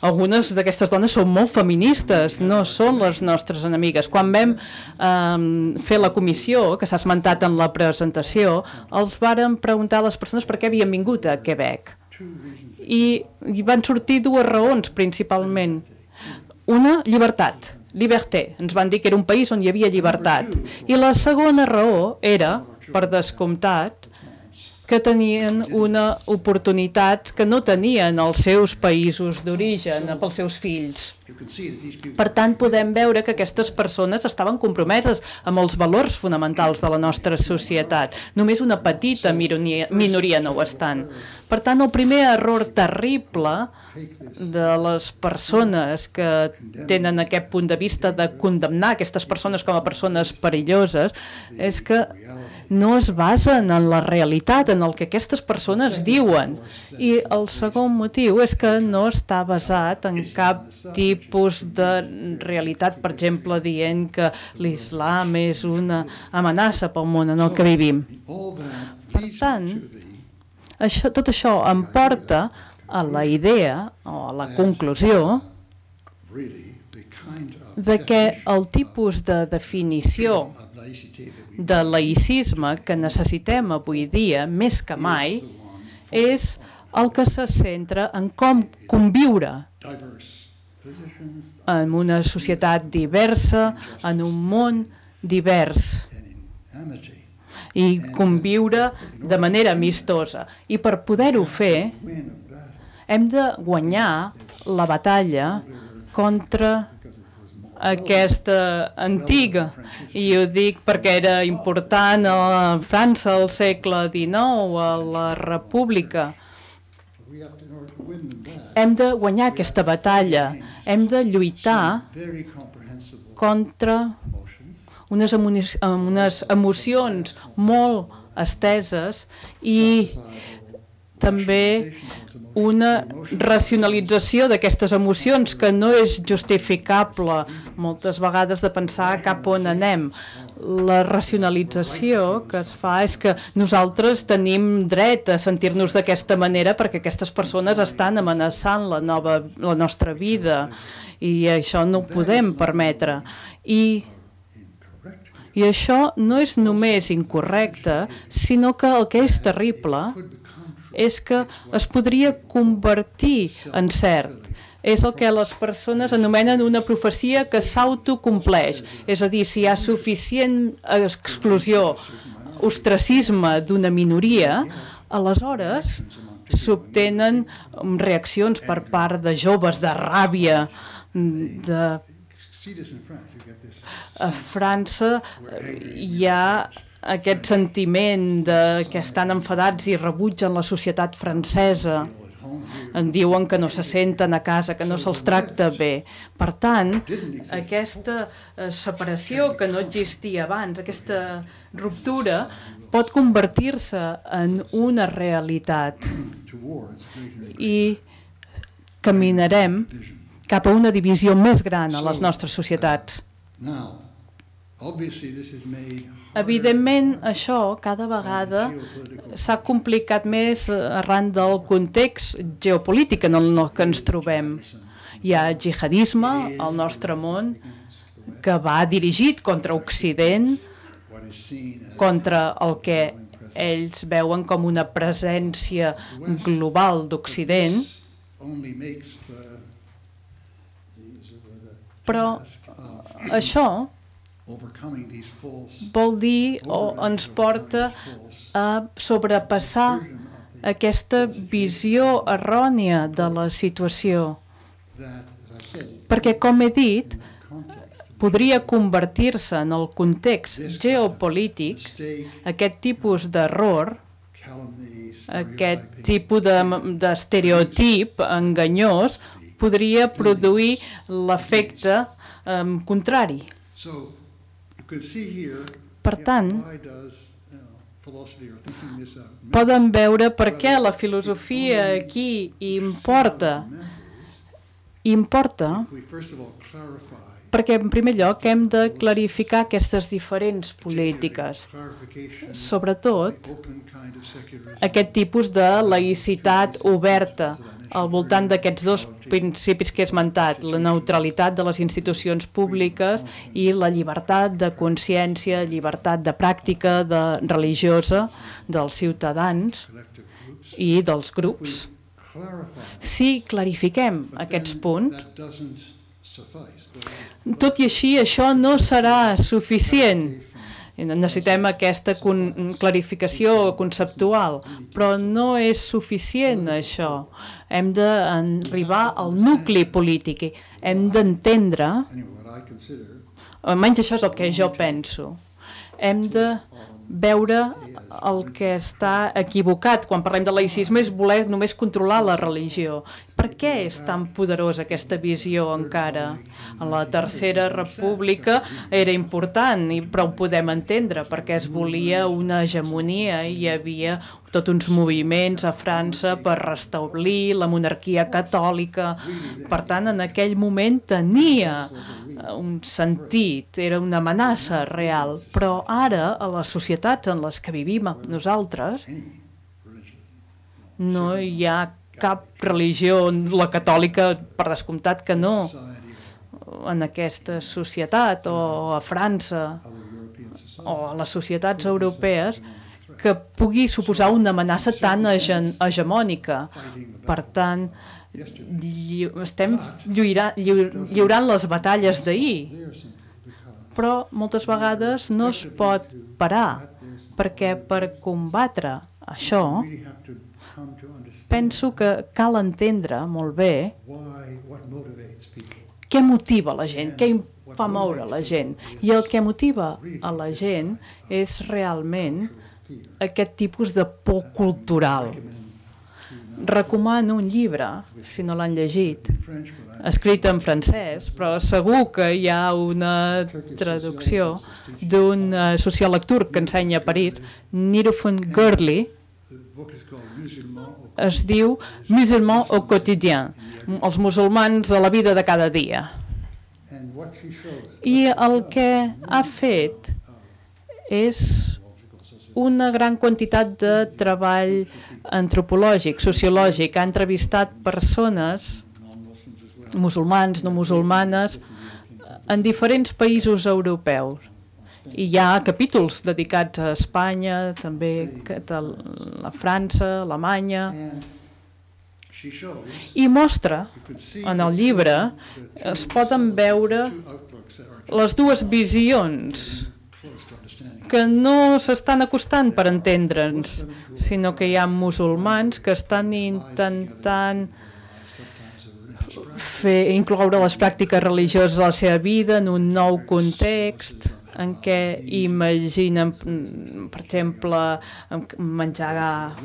Algunes d'aquestes dones són molt feministes, no són les nostres enemigues. Quan vam eh, fer la comissió, que s'ha esmentat en la presentació, els vàrem preguntar a les persones per què havien vingut a Quebec. I, i van sortir dues raons, principalment. Una, llibertat, liberté. Ens van dir que era un país on hi havia llibertat. I la segona raó era, per descomptat, que tenien una oportunitat que no tenien els seus països d'origen pels seus fills. Per tant, podem veure que aquestes persones estaven compromeses amb els valors fonamentals de la nostra societat. Només una petita minoria, minoria no ho estan. Per tant, el primer error terrible de les persones que tenen aquest punt de vista de condemnar aquestes persones com a persones perilloses és que no es basen en la realitat, en el que aquestes persones diuen. I el segon motiu és que no està basat en cap tipus de realitat, per exemple, dient que l'islam és una amenaça pel món en el que vivim. Per tant, això, tot això em porta a la idea, o a la conclusió, de que el tipus de definició de laïcisme que necessitem avui dia, més que mai, és el que se centra en com conviure en una societat diversa, en un món divers, i conviure de manera amistosa. I per poder-ho fer, hem de guanyar la batalla contra aquesta antiga, i ho dic perquè era important a França al segle dinou, a la República. Hem de guanyar aquesta batalla, hem de lluitar contra unes, unes emocions molt esteses i també una racionalització d'aquestes emocions que no és justificable moltes vegades de pensar cap on anem. La racionalització que es fa és que nosaltres tenim dret a sentir-nos d'aquesta manera perquè aquestes persones estan amenaçant la, nova, la nostra vida i això no ho podem permetre. I, i això no és només incorrecte, sinó que el que és terrible és que es podria convertir en cert. És el que les persones anomenen una profecia que s'autocompleix. És a dir, si hi ha suficient exclusió, ostracisme d'una minoria, aleshores s'obtenen reaccions per part de joves, de ràbia, de... A França hi ha aquest sentiment de que estan enfadats i rebutgen la societat francesa. En diuen que no se senten a casa, que no se'ls tracta bé. Per tant, aquesta separació que no existia abans, aquesta ruptura, pot convertir-se en una realitat. I caminarem cap a una divisió més gran a les nostres societats. Evidentment, això cada vegada s'ha complicat més arran del context geopolític en el que ens trobem. Hi ha jihadisme al nostre món que va dirigit contra Occident, contra el que ells veuen com una presència global d'Occident, però això vol dir o ens porta a sobrepassar aquesta visió errònia de la situació. Perquè, com he dit, podria convertir-se en el context geopolític, aquest tipus d'error, aquest tipus d'estereotip enganyós, podria produir l'efecte eh, contrari. Per tant, poden veure per què la filosofia aquí importa. Importa perquè, en primer lloc, hem de clarificar aquestes diferents polítiques, sobretot aquest tipus de laïcitat oberta al voltant d'aquests dos principis que he esmentat, la neutralitat de les institucions públiques i la llibertat de consciència, llibertat de pràctica de religiosa dels ciutadans i dels grups. Si clarifiquem aquests punts, tot i així, això no serà suficient. Necessitem aquesta clarificació conceptual, però no és suficient això. Hem d'arribar al nucli polític, hem d'entendre, almenys això és el que jo penso, hem de veure el que està equivocat quan parlem de laïcisme és voler només controlar la religió. Per què és tan poderosa aquesta visió encara? En la Tercera República era important, però ho podem entendre, perquè es volia una hegemonia i hi havia tots uns moviments a França per restablir la monarquia catòlica. Per tant, en aquell moment tenia un sentit, era una amenaça real, però ara, a les societats en les que vivim nosaltres, no hi ha cap religió, la catòlica, per descomptat que no, en aquesta societat, o a França, o a les societats europees, que pugui suposar una amenaça tan hegemònica. Per tant, estem lliurant les batalles d'ahir, però moltes vegades no es pot parar, perquè per combatre això penso que cal entendre molt bé què motiva la gent, què fa moure la gent. I el que motiva a la gent és realment aquest tipus de por cultural. Recomano un llibre, si no l'han llegit, escrit en francès, però segur que hi ha una traducció d'un sociòleg turc que ensenya a París, Nirufun Gurli, es diu Musulmans au quotidien, els musulmans a la vida de cada dia. I el que ha fet és una gran quantitat de treball antropològic, sociològic. Ha entrevistat persones, musulmans, no musulmanes, en diferents països europeus. I hi ha capítols dedicats a Espanya, també a França, Alemanya. I mostra, en el llibre, es poden veure les dues visions que no s'estan acostant per entendre'ns, sinó que hi ha musulmans que estan intentant fer, incloure les pràctiques religioses a la seva vida en un nou context en què imaginen, per exemple, menjar,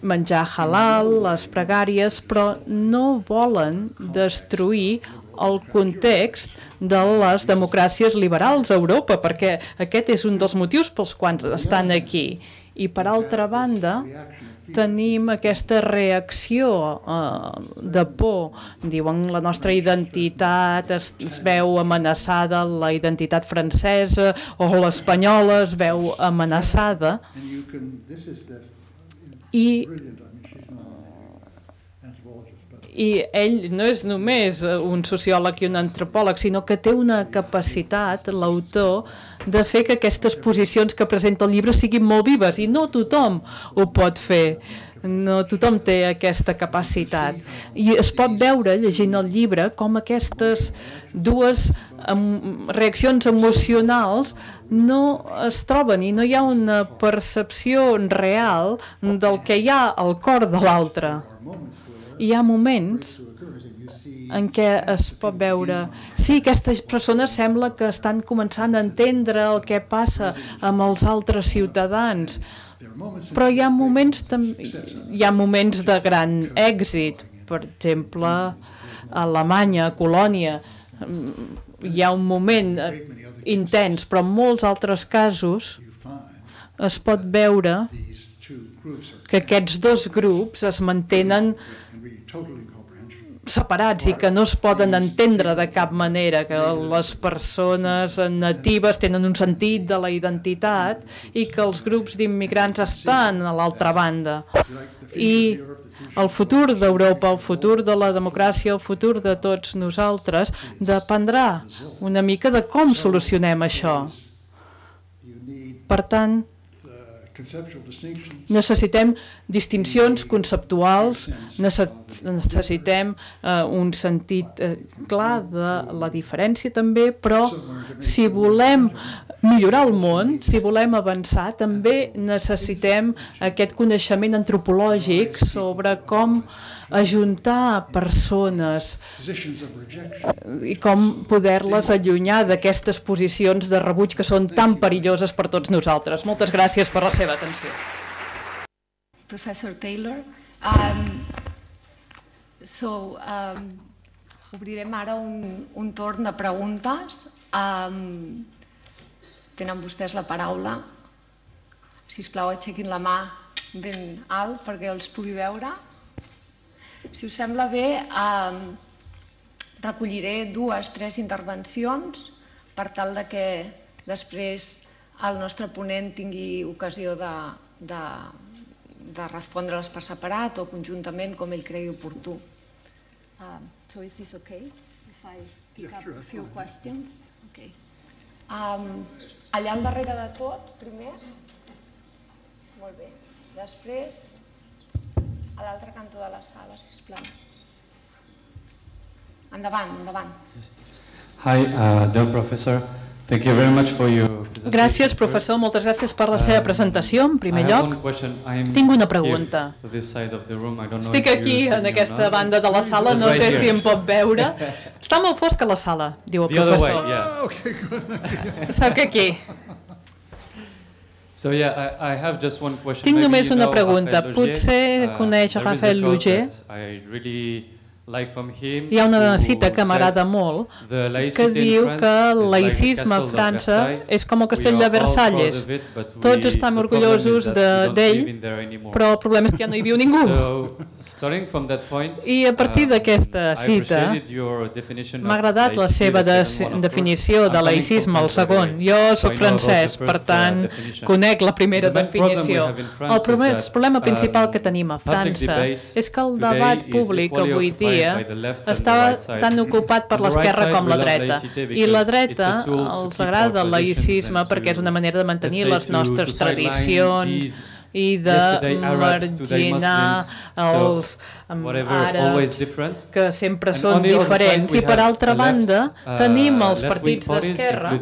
menjar halal, les pregàries, però no volen destruir el context de les democràcies liberals a Europa, perquè aquest és un dels motius pels quals estan aquí. I, per altra banda, tenim aquesta reacció eh, de por. Diuen la nostra identitat es, es veu amenaçada, la identitat francesa o l'espanyola es veu amenaçada. I I ell no és només un sociòleg i un antropòleg, sinó que té una capacitat, l'autor, de fer que aquestes posicions que presenta el llibre siguin molt vives, i no tothom ho pot fer. No tothom té aquesta capacitat. I es pot veure, llegint el llibre, com aquestes dues reaccions emocionals no es troben i no hi ha una percepció real del que hi ha al cor de l'altre. Hi ha moments en què es pot veure, sí, aquestes persones sembla que estan començant a entendre el que passa amb els altres ciutadans, però hi ha moments, hi ha moments de gran èxit. Per exemple, a Alemanya, a Colònia, hi ha un moment intens, però en molts altres casos es pot veure que aquests dos grups es mantenen separats i que no es poden entendre de cap manera, que les persones natives tenen un sentit de la identitat i que els grups d'immigrants estan a l'altra banda. I el futur d'Europa, el futur de la democràcia, el futur de tots nosaltres dependrà una mica de com solucionem això. Per tant, necessitem distincions conceptuals, necessitem uh, un sentit uh, clar de la diferència també, però si volem millorar el món, si volem avançar, també necessitem aquest coneixement antropològic sobre com ajuntar persones i com poder-les allunyar d'aquestes posicions de rebuig que són tan perilloses per tots nosaltres. Moltes gràcies per la seva atenció. Professor Taylor, um, so, um, obrirem ara un, un torn de preguntes. Um, tenen vostès la paraula. Sisplau, aixequin la mà ben alt perquè els pugui veure. Si us sembla bé, eh, recolliré dues, tres intervencions per tal de que després el nostre ponent tingui ocasió de, de, de respondre-les per separat o conjuntament, com ell cregui oportú. Uh, so is this okay if I pick up a few questions? Okay. Um, allà al darrere de tot, primer. Molt bé. Després, a l'altre cantó de la sala, sisplau. Endavant, endavant. Hi, uh, dear professor. Thank you very much for your presentation. Gràcies, professor. Moltes gràcies per la seva presentació, en primer lloc. Tinc una pregunta. Estic aquí, en aquesta banda de la sala, no sé si em pot veure. Està molt fosca la sala, diu el professor. Soc aquí. So, yeah, I, I have just one question. Tinc només una pregunta. Potser coneix a Raphael Luger. Hi ha una cita que m'agrada molt que diu que el laïcisme a França és com el castell de Versalles. Tots estan orgullosos d'ell, però el problema és que ja no hi viu ningú. I a partir d'aquesta cita m'ha agradat la seva definició de laïcisme, el segon. Jo soc francès, per tant, conec la primera definició. El problema principal que tenim a França és que el debat públic avui dia estava tan ocupat per l'esquerra com la dreta. I la dreta els agrada el laïcisme perquè és una manera de mantenir les nostres tradicions i de marginar els àrabs que sempre són diferents. I per altra banda tenim els partits d'esquerra,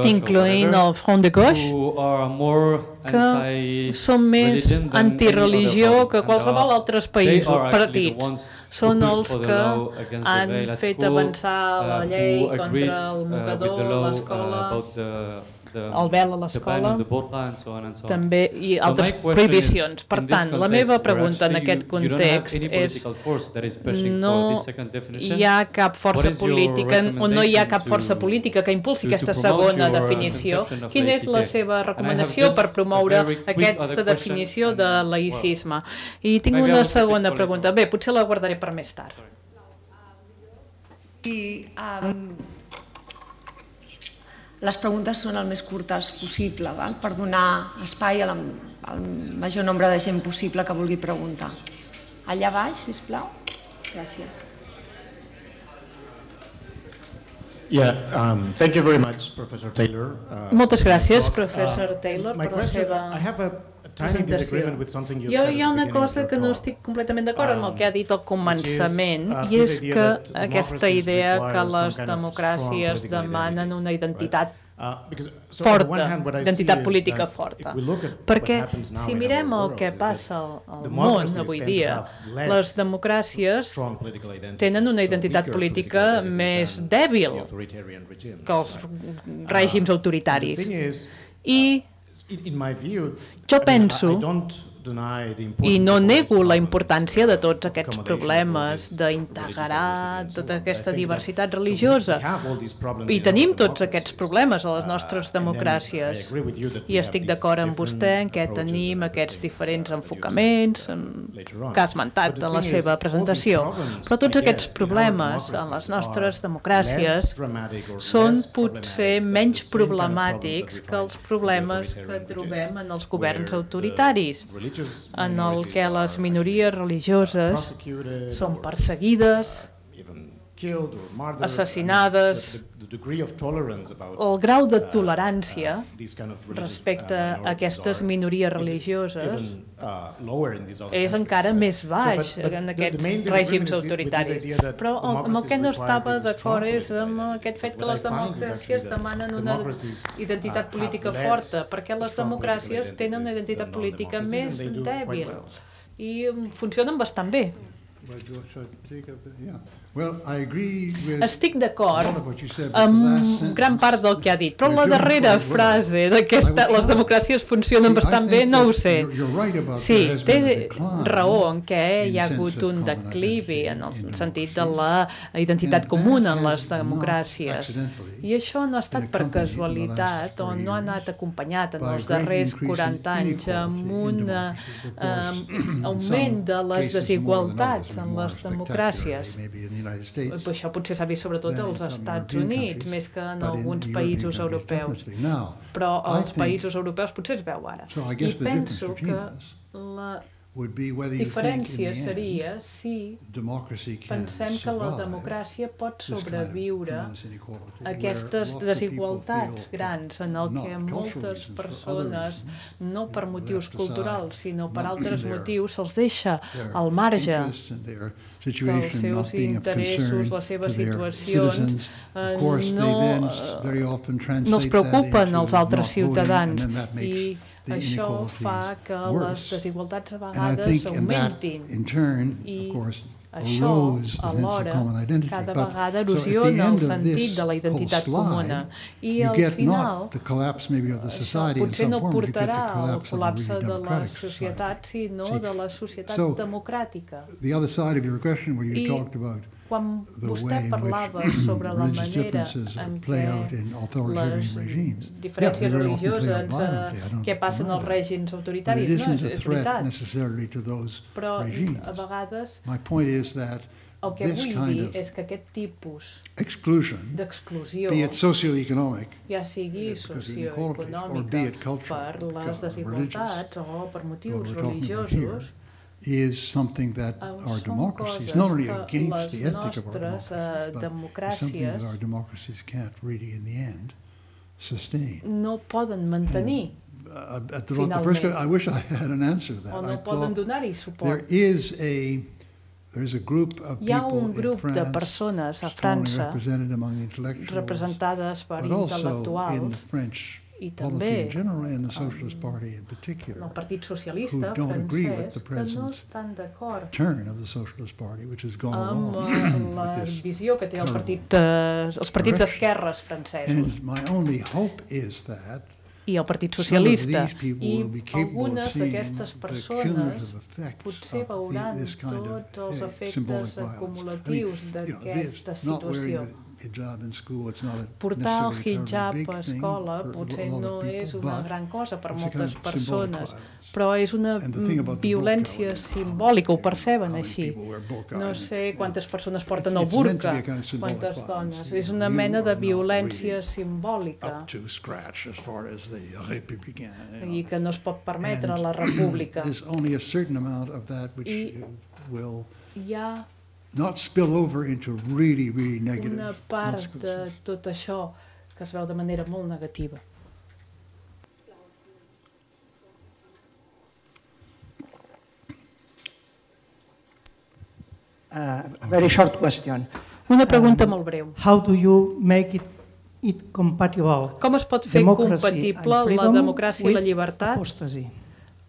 incloent el Front de Gauche, que són més antireligió que qualsevol altres països partits. Són els que han fet avançar la llei contra el mocador, l'escola, el vel a l'escola, també, i altres prohibicions. Per tant, la meva pregunta en aquest context és no hi ha cap força política, o no hi ha cap força política que impulsi aquesta segona definició. Quina és la seva recomanació per promoure aquesta definició de laïcisme? I tinc una segona pregunta. Bé, potser la guardaré per més tard. I les preguntes són el més curtes possible, per donar espai al major nombre de gent possible que vulgui preguntar. Allà baix, sisplau. Gràcies. Yeah, um, thank you very much, Professor Taylor. Uh, Moltes gràcies, professor Taylor, my per la question, seva I have a tiny disagreement with something you Jo said hi ha at the una beginning of cosa your que no talk. estic completament d'acord amb el que ha dit al començament, uh, i és this idea que that aquesta democracies idea que require some les kind of democràcies strong political demanen identity, una identitat Uh, because, so on the one forta, hand, what I see identitat is política that forta. if we look at Perquè what happens now si in mirem our el world, que is that passa al, al món democracies avui tend to dia, have less les democràcies strong political identity, tenen una so identitat weaker política political identities més than dèbil the authoritarian regimes, que els right? règims Uh, autoritaris. the thing is, I in, in my view, jo I mean, penso, I, I don't deny the i importance no of all these nego la problems, importància de tots of aquests accommodation of all problemes, this d'integrar religious diversity and so tota on. aquesta I think diversitat that- so we- religiosa. we have all these problems I in our tenim tots democracies. aquests problemes a les nostres Uh, and then I democràcies. agree with you that we I have estic these d'acord amb different vostè en què approaches tenim and aquests everything, diferents uh, enfocaments uh, en- later on. que ha esmentat But the en la thing seva is, all these presentació. problems, Però tots I aquests guess, in our problemes en les democracies nostres are democràcies less dramatic or són less potser problematic menys than the same kind of problemàtics problems that we que els find in the problemes que authoritarian trobem regimes, en els governs where the autoritaris, religious en el minorities que les are minories religioses prosecuted són or, perseguides, uh, even killed or murdered, assassinades. and the- the degree of tolerance about, el grau de uh, tolerància uh, these kind of religious, respecte uh, a minorities aquestes are- minories is religioses even, uh, lower in these other és countries. encara més baix So, but- but en the- the aquests main disagreement règims is with this autoritaris. idea that Però el- amb el que no democracies estava require this d'acord strong és amb political aquest fet que identity. les What I find is democràcies actually that demanen una democracies, identitat uh, política have forta, less perquè les strong democràcies political tenen una identities identitat than política non-democracies, més and they do quite dèbil well. i mm, funcionen bastant bé. Estic d'acord amb gran part del que ha dit, però la darrera frase d'aquesta, les democràcies funcionen bastant bé, no ho sé. Sí, té raó en què hi ha hagut un declivi en el sentit de la identitat comuna en les democràcies. I això no ha estat per casualitat o no ha anat acompanyat en els darrers quaranta anys amb un eh, augment de les desigualtats en les democràcies. Això potser s'ha vist sobretot als Estats Units, més que en alguns països europeus. Però als països europeus potser es veu ara. I penso que la diferència seria si pensem que la democràcia pot sobreviure a aquestes desigualtats grans en el que moltes persones, no per motius culturals, sinó per altres motius, se'ls deixa al marge, que els seus interessos, les seves situacions eh, no, no els preocupen els altres ciutadans i això fa que les desigualtats a vegades augmentin i això, alhora, cada vegada erosiona el sentit de la identitat comuna i al final això potser no portarà al col·lapse de la societat sinó de la societat democràtica. I quan vostè parlava sobre la manera en què les diferències religioses eh, què passen als règims autoritaris, no, és, és veritat. Però a vegades el que vull dir és que aquest tipus d'exclusió, ja sigui socioeconòmica per les desigualtats o per motius religiosos, is something that our democracies, not only against the ethic of our democracies, but something that our democracies can't really, in the end, sustain. No poden mantenir uh, at the, the first, I wish I had an answer to that. O no poden donar-hi suport. There is a there is a group of Hi ha un people grup in de France, persones a strongly França represented among intellectuals, representades per but also in the intel·lectuals French i polity també in general and the Socialist Party in particular, el Partit Socialista who don't agree with francès the que no present estan d'acord turn of the Socialist Party, which has gone amb along la with this. visió que té el partit, eh, els partits d'esquerres francesos And my only hope is that i el Partit some of Socialista, these people i will be capable of algunes seeing d'aquestes the persones cumulative effects potser of veuran this kind of tots els eh, symbolic efectes violence. acumulatius I mean, you know, d'aquesta this, not wearing situació. the hijab in school, it's not a Portar el necessarily hijab terribly a big thing escola for a potser lot no of people, és una but gran cosa per it's a kind moltes of symbolic persones, violence. però és una And the thing about the violència burqa, simbòlica, ho uh, perceben how many així. people wear burqa, No and, sé you know, quantes persones porten it's- el it's meant to burca, be a kind of symbolic quantes violence. dones. You És know, una you mena are de not violència really simbòlica up to scratch as far as the Républicain, you know. i que no es pot permetre a And la república. there's only a certain amount of that which I will hi ha not spill over into really, really negative una part de consequences. tot això que es veu de manera molt negativa. Uh, a very short question. Una pregunta molt breu. How do you make it, it compatible? Com es pot fer compatible la democràcia i la llibertat apostasy?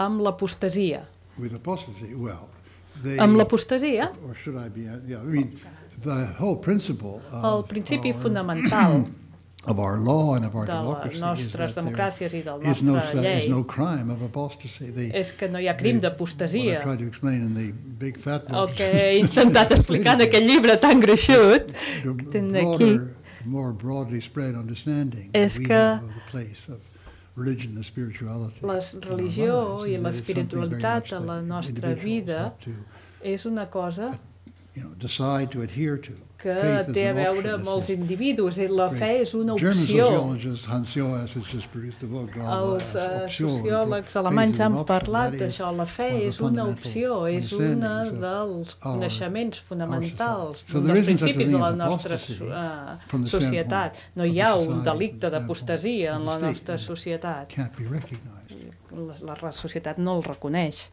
amb l'apostasia? With apostasy, well, they, Amb l'apostasia, or should I be, yeah, I mean, the whole principle el of principi our, fonamental of our law and of our de les democracy is nostres that democràcies i del there is no, nostre is llei no crime of apostasy. They, és que no hi ha crim they, d'apostasia. what I tried to explain in the big fat El book, que he intentat explicar en aquell llibre tan gruixut que tenen aquí more broadly spread understanding és we que have of the place of religion and spirituality la religió i l'espiritualitat a la nostra vida és una cosa you know, decide to adhere to. que té a veure amb els individus. La fe és una opció. Els sociòlegs alemanys han parlat d'això. La fe és una opció, és una dels coneixements fonamentals, un dels principis de la nostra societat. No hi ha un delicte d'apostasia en la nostra societat. La societat no el reconeix.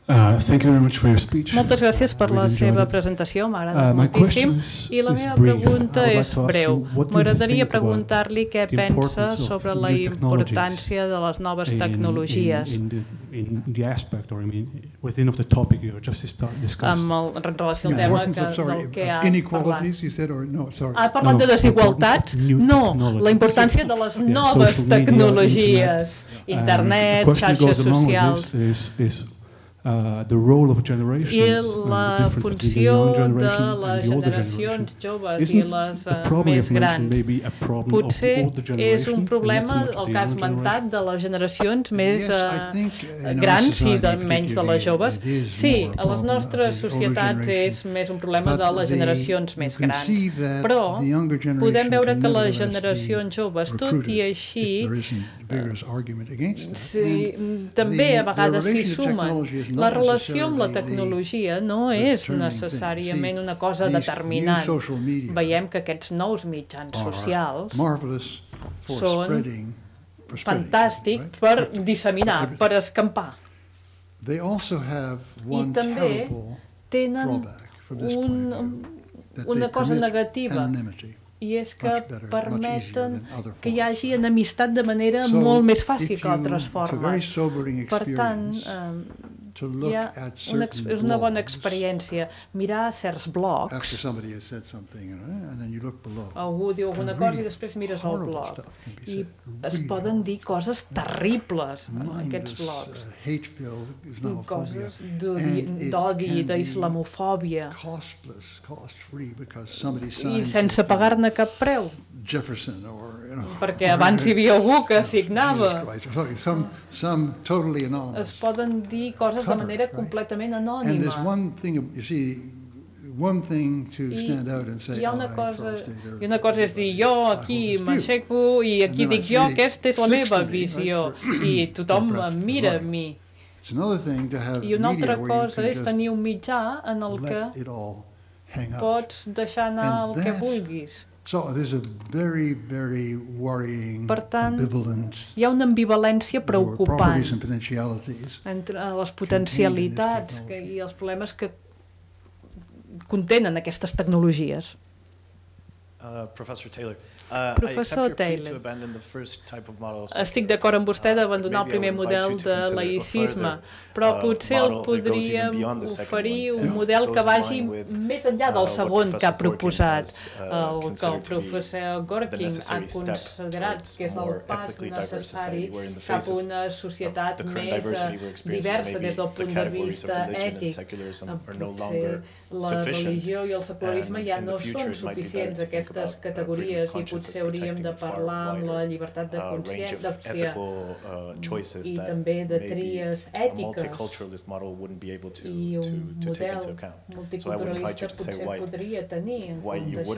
Uh, thank you very much for your speech. Moltes gràcies per la seva presentació, m'ha agradat uh, moltíssim. I la meva pregunta és breu. M'agradaria preguntar-li què pensa sobre la importància de les noves tecnologies en relació al tema del que ha parlat. Ha parlat de desigualtats? No, la importància de les noves tecnologies, internet, xarxes socials. Uh, the role of generations i la funció de les generacions joves i les uh, més grans. Potser és un problema el que has esmentat de les generacions més uh, grans i de, menys de les joves. Sí, a les nostres societats és més un problema de les generacions més grans. Però podem veure que les generacions joves, tot i així, sí, també a vegades s'hi sumen. La relació amb la tecnologia no és necessàriament una cosa determinant. Veiem que aquests nous mitjans socials són fantàstics per disseminar, per escampar. I també tenen un, una cosa negativa, i és que permeten que hi hagi enemistat de manera molt més fàcil que altres formes. Per tant, hi ha una, és una bona experiència mirar certs blogs. Algú diu alguna cosa i després mires el blog i es poden dir coses terribles en aquests blogs, coses d'odi, d'islamofòbia, i sense pagar-ne cap preu, perquè abans hi havia algú que signava. Es poden dir coses de manera completament anònima. I hi ha una cosa, i una cosa és dir, jo aquí m'aixeco i aquí dic jo, aquesta és la meva visió, i tothom em mira a mi. I una altra cosa és tenir un mitjà en el que pots deixar anar el que vulguis. Per tant, hi ha una ambivalència preocupant entre les potencialitats i els problemes que contenen aquestes tecnologies. Professor Taylor, Professor Taylor, estic d'acord amb vostè d'abandonar el primer model de laïcisme, però potser el podríem oferir un model que vagi més enllà del segon que ha proposat, el que el professor Gorkin ha considerat que és el pas necessari cap a una societat més diversa des del punt de vista ètic. Potser la religió i el secularisme ja no són suficients. Aquesta diferents categories i potser hauríem de parlar amb la llibertat de consciència i també de tries ètiques i un model multiculturalista potser podria tenir en compte això.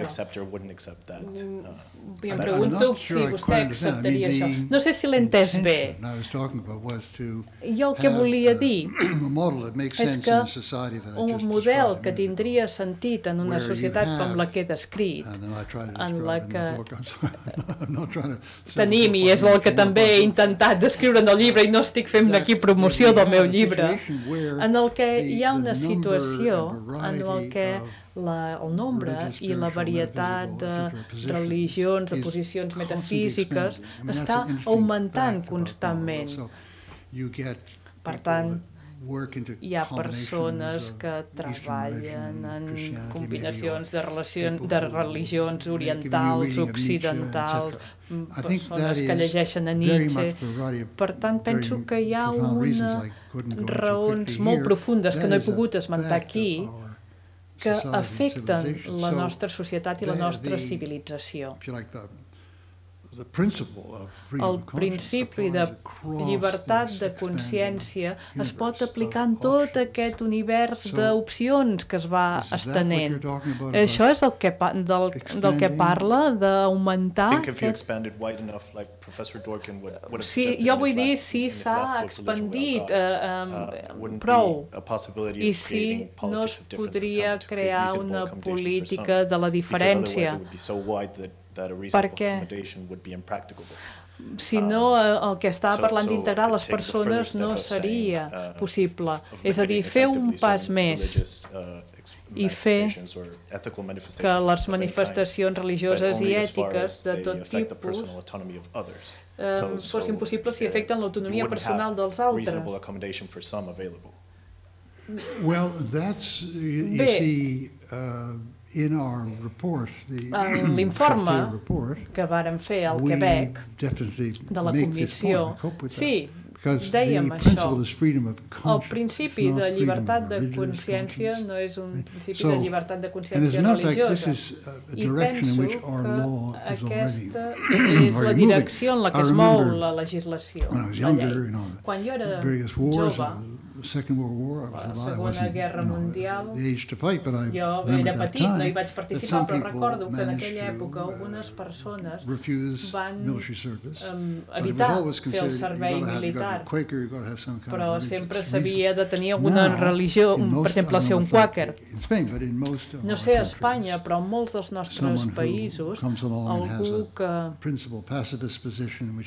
I em pregunto si vostè acceptaria això. No sé si l'he entès bé. Jo el que volia dir és que un model que tindria sentit en una societat com la que he descrit, en la que tenim, i és el que també he intentat descriure en el llibre, i no estic fent aquí promoció del meu llibre, en el que hi ha una situació en el que la, el nombre i la varietat de religions, de posicions metafísiques està augmentant constantment. Per tant, hi ha persones que treballen en combinacions de, relacions, de religions orientals, occidentals, persones que llegeixen a Nietzsche. Per tant, penso que hi ha unes raons molt profundes que no he pogut esmentar aquí que afecten la nostra societat i la nostra civilització. El principi de llibertat de consciència es pot aplicar en tot aquest univers d'opcions que es va estenent. Això és el que, del, del que parla, d'augmentar aquest... Sí, jo vull dir si s'ha expandit eh, eh, prou i si no es podria crear una política de la diferència. Perquè si no el que estava parlant d'integrar les persones no seria possible. És a dir, fer un pas més i fer que les manifestacions religioses i ètiques de tot tipus fossin possibles si afecten l'autonomia personal dels altres. Bé, l'informe que vàrem fer al Quebec de la comissió, sí, dèiem això. El principi de llibertat de consciència no és un principi de llibertat de consciència religiosa. I penso que aquesta és la direcció en la que es mou la legislació, la llei. Quan jo era jove, la Segona Guerra Mundial, jo era petit, no hi vaig participar, però recordo que en aquella època algunes persones van evitar fer el servei militar, però sempre s'havia de tenir alguna religió, per exemple, ser un quàquer. No sé a Espanya, però en molts dels nostres països, algú que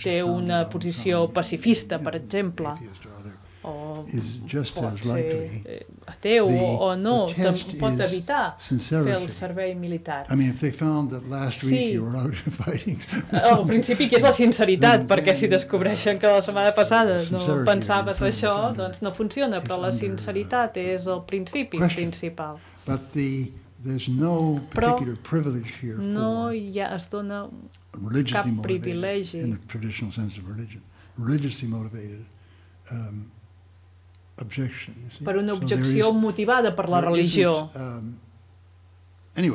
té una posició pacifista, per exemple, o pot ser ateu o no, pot evitar fer el servei militar. Sí, al principi que és la sinceritat, perquè si descobreixen que la setmana passada no pensaves això, doncs no funciona, però la sinceritat és el principi principal. Però no hi ha, es dona cap privilegi per una objecció motivada per la religió. I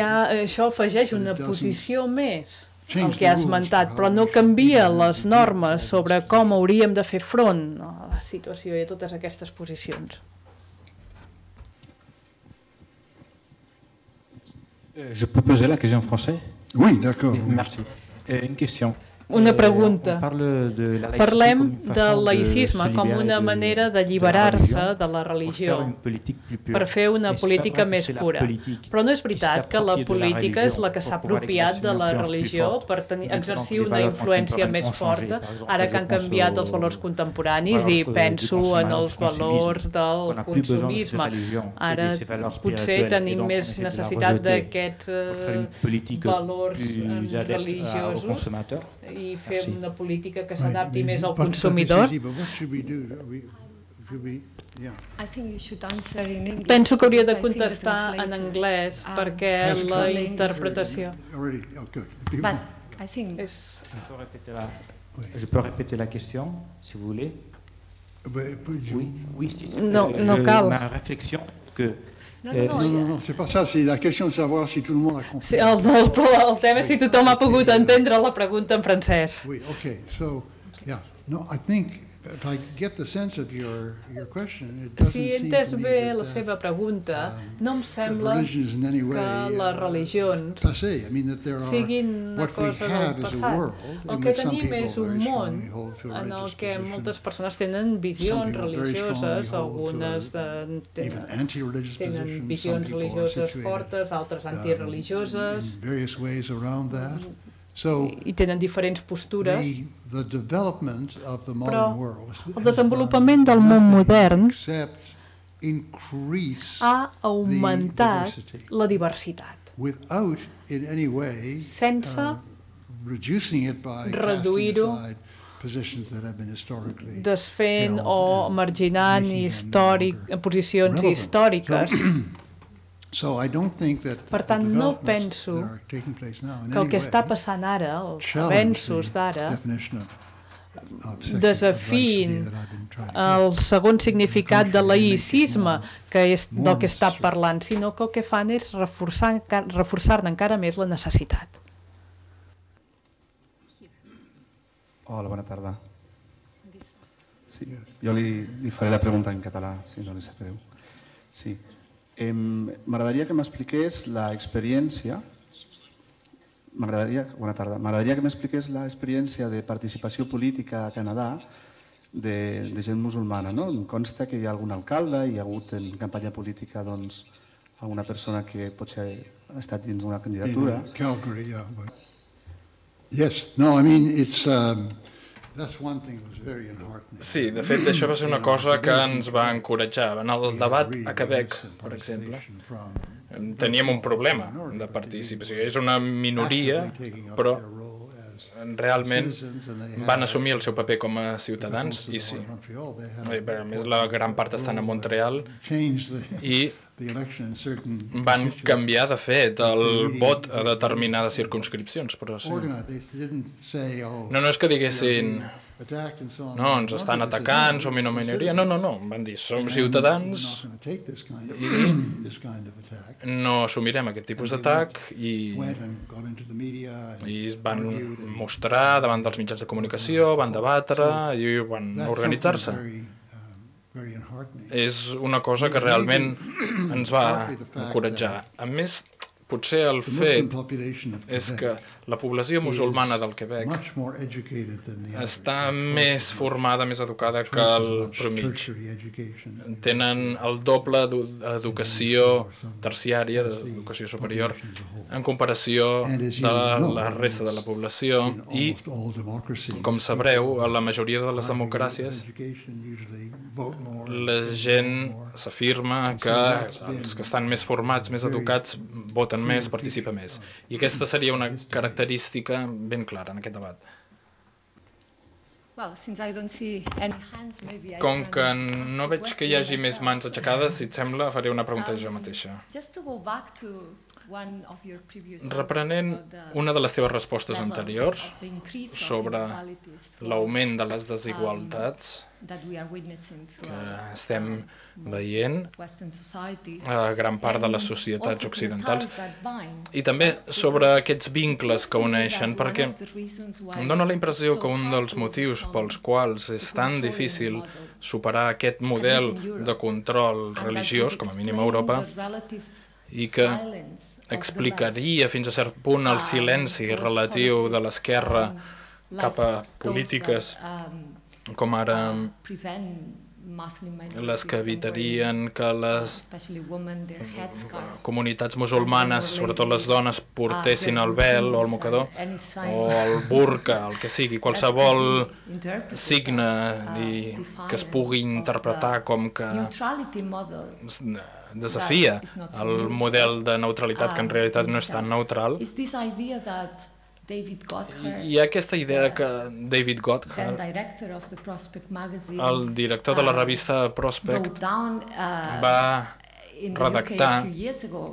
això afegeix una posició més al que has esmentat, però no canvia les normes sobre com hauríem de fer front a la situació i a totes aquestes posicions. Je peux poser la question en français? Oui, d'accord. Merci. Une question. Una pregunta. Parlem del laïcisme com una manera d'alliberar-se de la religió per fer una política més pura. Però no és veritat que la política és la que s'ha apropiat de la religió per exercir una influència més forta, ara que han canviat els valors contemporanis, i penso en els valors del consumisme. Ara potser tenim més necessitat d'aquests valors religiosos i fer una política que s'adapti més al consumidor. Penso que hauria de contestar en anglès perquè la interpretació... Je peux répéter la question, si vous voulez. No, no cal. Ma réflexion que No, no, no, no, c'est pas ça, c'est la question de savoir si tout le monde a compris. Sí, el, el, el tema és si tothom ha pogut entendre la pregunta en francès. Oui, okay, so, yeah, no, I think, if I get the sense of your, your question, it doesn't Si he seem entès to me bé that, la uh, seva pregunta, no em that sembla religion is in any way, que les religions uh, passé. I mean, that there are, siguin una what we cosa del have is a passat. world El in que which some tenim people és un very món strongly hold to a en el religious que position. moltes persones tenen visions religioses, algunes de, tenen, tenen visions religioses fortes, altres antireligioses, in various ways around that. So, i tenen diferents postures, the, the development of the però modern world el desenvolupament del món modern increase ha augmentat la diversitat, without in any way sense uh, reducing it by reduir-ho, casting aside positions that have been historically desfent held o marginant històric, posicions relevant. històriques. So I don't think that Per tant, the no developments penso that are taking place now in que el any que way està passant ara, els challenge avenços the d'ara, definition of- of secular desafien diversity that I've been trying to el segon significat de laïcisme que és del que està parlant, sinó que el que fan és reforçar, reforçar-ne encara més la necessitat. Hola, bona tarda. Sí, jo li, li faré la pregunta en català, si no li sap greu. Sí. Eh, M'agradaria que m'expliqués l'experiència M'agradaria bona tarda. M'agradaria que m'expliqués l'experiència de participació política a Canadà de, de gent musulmana. No? Em consta que hi ha algun alcalde, hi ha hagut en campanya política doncs, alguna persona que potser ha estat dins d'una candidatura. In Calgary, yeah. But yes, no, I mean, it's, um, that's one thing that was very enheartening. Sí, de fet, això va ser una cosa que ens va encoratjar. En el debat a Quebec, per exemple, teníem un problema de participació. És una minoria, però realment van assumir el seu paper com a ciutadans i sí. A més, la gran part estan a Montreal i van canviar, de fet, el vot a determinades circumscripcions, però sí. No, no és que diguessin no, ens estan atacant, som una minoria. No, no, no, van dir, som ciutadans i no assumirem aquest tipus d'atac i, i es van mostrar davant dels mitjans de comunicació, van debatre i van organitzar-se. És una cosa que realment ens va encoratjar. A més, potser el fet és que la població musulmana del Quebec està més formada, més educada que el promig. Tenen el doble d'educació terciària, d'educació superior, en comparació de la resta de la població i, com sabreu, a la majoria de les democràcies la gent s'afirma que els que estan més formats, més educats, voten més, participen més. I aquesta seria una característica ben clara en aquest debat. Com que no veig que hi hagi més mans aixecades, si et sembla, faré una pregunta jo mateixa. Reprenent una de les teves respostes anteriors sobre l'augment de les desigualtats que estem veient a gran part de les societats occidentals i també sobre aquests vincles que uneixen, perquè em dóna la impressió que un dels motius pels quals és tan difícil superar aquest model de control religiós, com a mínim a Europa, i que explicaria fins a cert punt el silenci relatiu de l'esquerra cap a polítiques com ara les que evitarien que les comunitats musulmanes, sobretot les dones, portessin el vel o el mocador o el burca, el que sigui, qualsevol signe que es pugui interpretar com que desafia el model de neutralitat, que en realitat no és tan neutral. Hi ha aquesta idea que David Gotthard, el director de la revista Prospect, va redactar,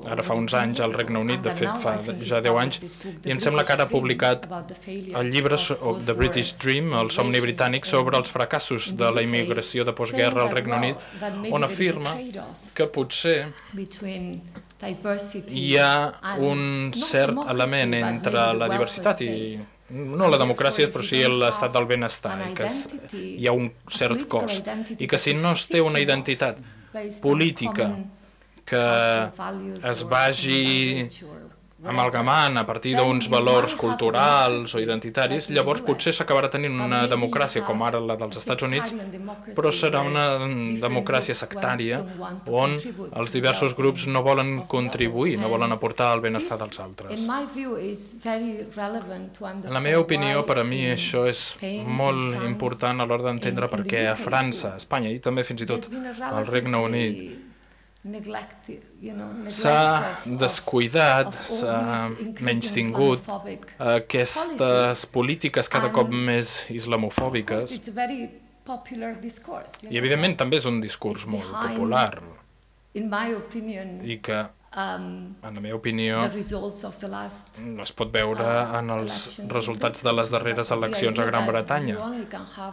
ara fa uns anys al Regne Unit, de fet fa ja deu anys, i em sembla que ara ha publicat el llibre The British Dream, el somni britànic, sobre els fracassos de la immigració de postguerra al Regne Unit, on afirma que potser hi ha un cert element entre la diversitat i no la democràcia, però sí l'estat del benestar, i que hi ha un cert cost, i que si no es té una identitat política que es vagi amalgamant a partir d'uns valors culturals o identitaris, llavors potser s'acabarà tenint una democràcia com ara la dels Estats Units, però serà una democràcia sectària on els diversos grups no volen contribuir, no volen aportar el benestar dels altres. En la meva opinió, per a mi això és molt important a l'hora d'entendre per què a França, a Espanya i també fins i tot al Regne Unit s'ha descuidat, s'ha menystingut aquestes polítiques cada cop més islamofòbiques i, evidentment, també és un discurs molt popular i que, en la meva opinió, es pot veure en els resultats de les darreres eleccions a Gran Bretanya.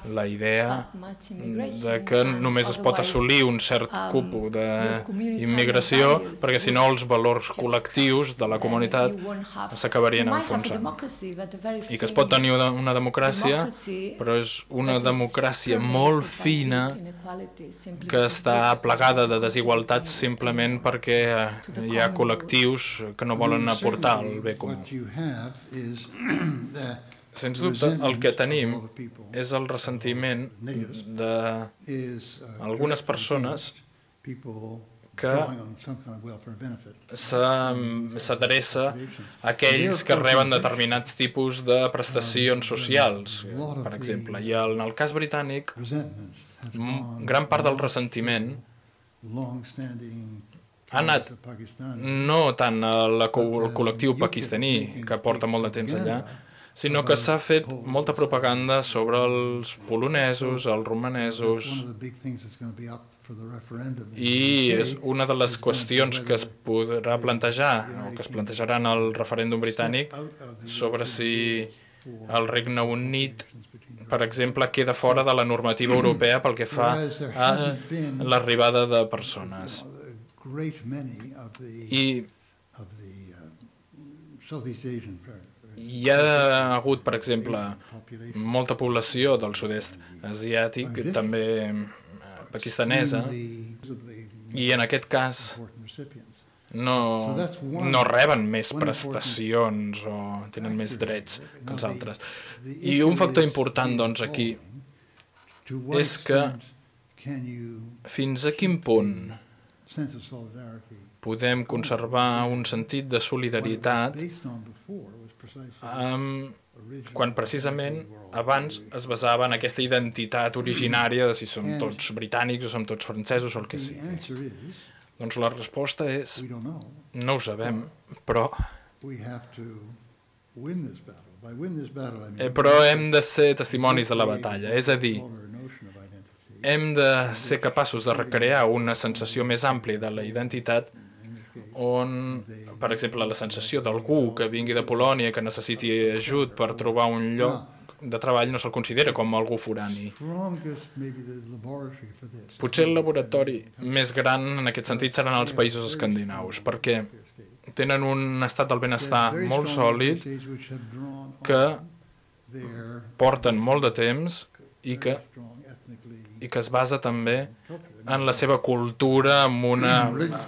La idea de que només es pot assolir un cert cupo d'immigració perquè si no els valors col·lectius de la comunitat s'acabarien enfonsant. I que es pot tenir una democràcia, però és una democràcia molt fina que està plagada de desigualtats simplement perquè hi ha col·lectius que no volen aportar el bé comú. Sens dubte, el que tenim és el ressentiment d'algunes persones que s'adreça a aquells que reben determinats tipus de prestacions socials, per exemple. I en el cas britànic, gran part del ressentiment ha anat no tant al col·lectiu pakistaní, que porta molt de temps allà, sinó que s'ha fet molta propaganda sobre els polonesos, els romanesos, i és una de les qüestions que es podrà plantejar, o que es plantejaran al referèndum britànic, sobre si el Regne Unit, per exemple, queda fora de la normativa europea pel que fa a l'arribada de persones. I hi ha hagut, per exemple, molta població del sud-est asiàtic, també pakistanesa, i en aquest cas no, no reben més prestacions o tenen més drets que els altres. I un factor important, doncs, aquí és que fins a quin punt podem conservar un sentit de solidaritat quan precisament abans es basava en aquesta identitat originària de si som tots britànics o som tots francesos o el que sigui. Doncs la resposta és no ho sabem, però però hem de ser testimonis de la batalla, és a dir, hem de ser capaços de recrear una sensació més àmplia de la identitat on, per exemple, la sensació d'algú que vingui de Polònia que necessiti ajut per trobar un lloc de treball no se'l considera com algú forani. Potser el laboratori més gran en aquest sentit seran els països escandinaus, perquè tenen un estat del benestar molt sòlid que porten molt de temps i que i que es basa també en la seva cultura amb una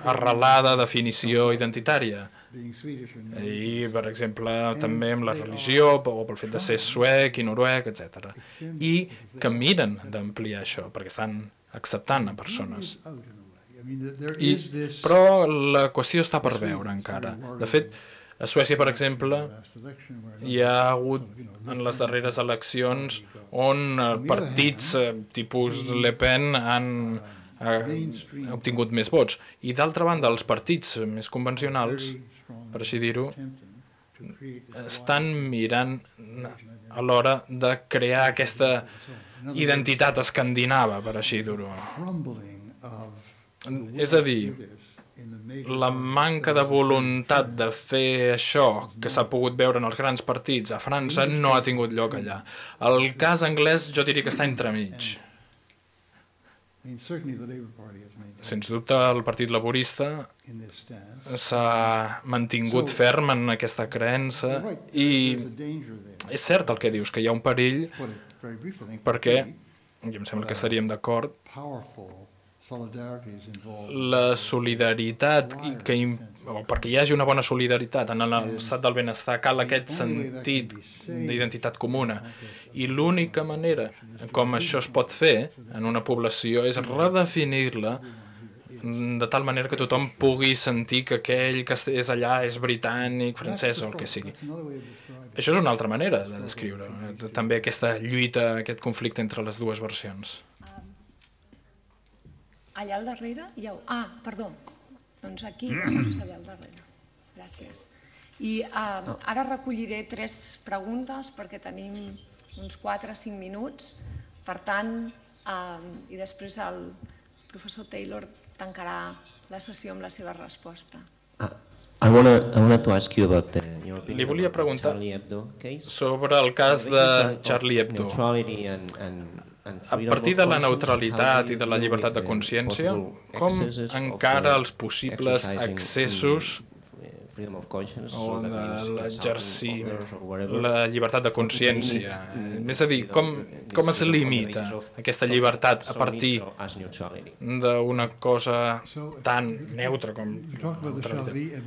arrelada definició identitària. I, per exemple, també amb la religió, o pel fet de ser suec i noruec, etcètera. I que miren d'ampliar això, perquè estan acceptant a persones. I, però la qüestió està per veure encara. De fet, a Suècia, per exemple, hi ha hagut en les darreres eleccions on partits tipus Le Pen han obtingut més vots. I d'altra banda, els partits més convencionals, per així dir-ho, estan mirant a l'hora de crear aquesta identitat escandinava, per així dir-ho. És a dir, la manca de voluntat de fer això que s'ha pogut veure en els grans partits a França no ha tingut lloc allà. El cas anglès jo diria que està entremig. Sens dubte el Partit Laborista s'ha mantingut ferm en aquesta creença i és cert el que dius, que hi ha un perill perquè, i em sembla que estaríem d'acord, la solidaritat, que, o perquè hi hagi una bona solidaritat en l'estat del benestar, cal aquest sentit d'identitat comuna. I l'única manera com això es pot fer en una població és redefinir-la de tal manera que tothom pugui sentir que aquell que és allà és britànic, francès o el que sigui. Això és una altra manera de descriure també aquesta lluita, aquest conflicte entre les dues versions. Allà al darrere hi ha... Ah, perdó. Doncs aquí, allà al darrere. Gràcies. I ara recolliré tres preguntes perquè tenim uns quatre o cinc minuts. Per tant, i després el professor Taylor tancarà la sessió amb la seva resposta. Li volia preguntar sobre el cas de Charlie Hebdo. A partir de la neutralitat i de la llibertat de consciència, com encara els possibles excessos o de l'exercir la llibertat de consciència? És a dir, com es limita aquesta llibertat a partir d'una cosa tan neutra com neutralitat?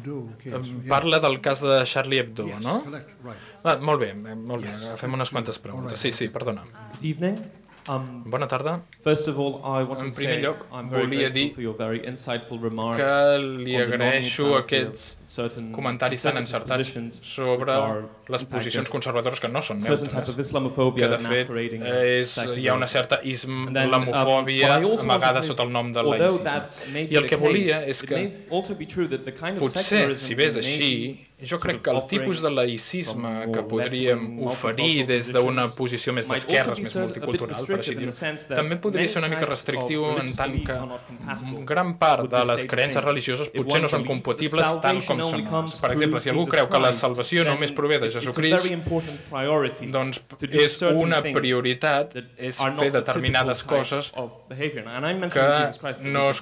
Parla del cas de Charlie Hebdo, no? Molt bé, molt bé, agafem unes quantes preguntes. Sí, sí, perdona. Bona tarda. En primer lloc, volia dir que li agraeixo aquests comentaris tan encertats sobre les posicions conservadores que no són neutres, que de fet hi ha una certa islamofòbia amagada sota el nom de laïcisme. I el que volia és que potser, si bé és així, jo crec que el tipus de laïcisme que podríem oferir des d'una posició més d'esquerres, més multicultural, per així dir-ho, també podria ser una mica restrictiu en tant que gran part de les creences religioses potser no són compatibles tant com són. Per exemple, si algú creu que la salvació només prové de Jesucrist, doncs és una prioritat és fer determinades coses que no es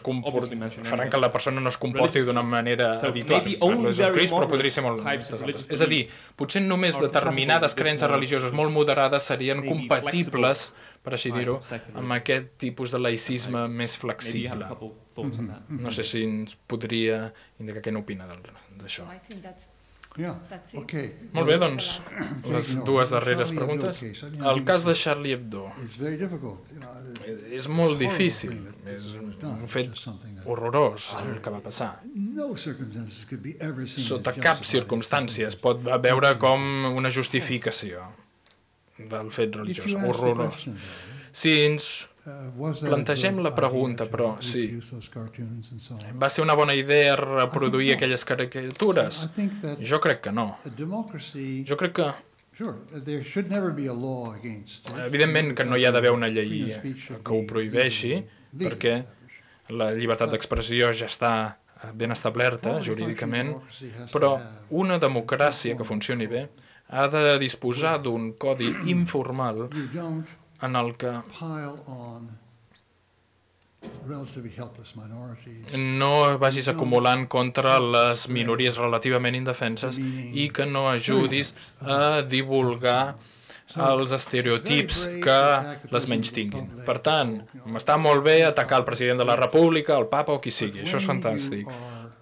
faran que la persona no es comporti d'una manera habitual. Parlo de Jesucrist, però podria ser molt moltes altres. És a dir, potser només determinades creences religioses molt moderades serien compatibles, per així dir-ho, amb aquest tipus de laïcisme més flexible. No sé si ens podria indicar què n'opina d'això. Molt bé, doncs, les dues darreres preguntes. El cas de Charlie Hebdo és molt difícil, és un fet horrorós el que va passar. Sota cap circumstància es pot veure com una justificació del fet religiós, horrorós. Si ens plantegem la pregunta, però, sí, va ser una bona idea reproduir aquelles caricatures? Jo crec que no. Jo crec que evidentment que no hi ha d'haver una llei que ho prohibeixi, perquè la llibertat d'expressió ja està ben establerta jurídicament, però una democràcia que funcioni bé ha de disposar d'un codi informal en el que no vagis acumulant contra les minories relativament indefenses i que no ajudis a divulgar els estereotips que les menys tinguin. Per tant, està molt bé atacar el president de la República, el papa o qui sigui, això és fantàstic,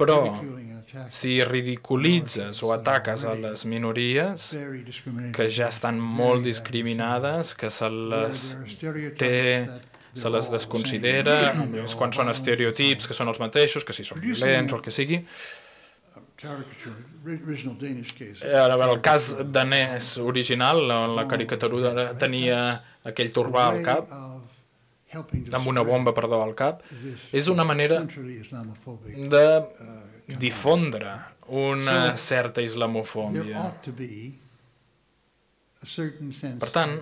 però si ridiculitzes o ataques a les minories que ja estan molt discriminades, que se les té, se les desconsidera, quan són estereotips que són els mateixos, que si són violents o el que sigui. El cas danès original, la caricatura tenia aquell turbà al cap, amb una bomba, perdó, al cap, és una manera de difondre una certa islamofòbia. Per tant,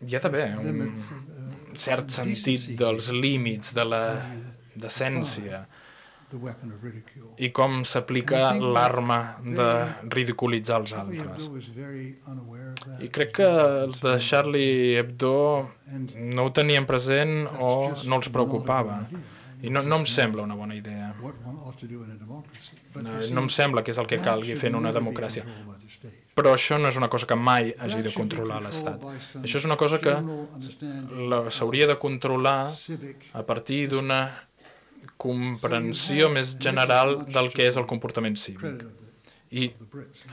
hi ha d'haver un cert sentit dels límits de la decència, i com s'aplica l'arma de ridiculitzar els altres. I crec que els de Charlie Hebdo no ho tenien present o no els preocupava. I no, no em sembla una bona idea. No, no em sembla que és el que calgui fer en una democràcia. Però això no és una cosa que mai hagi de controlar l'Estat. Això és una cosa que s'hauria de controlar a partir d'una comprensió més general del que és el comportament cívic. I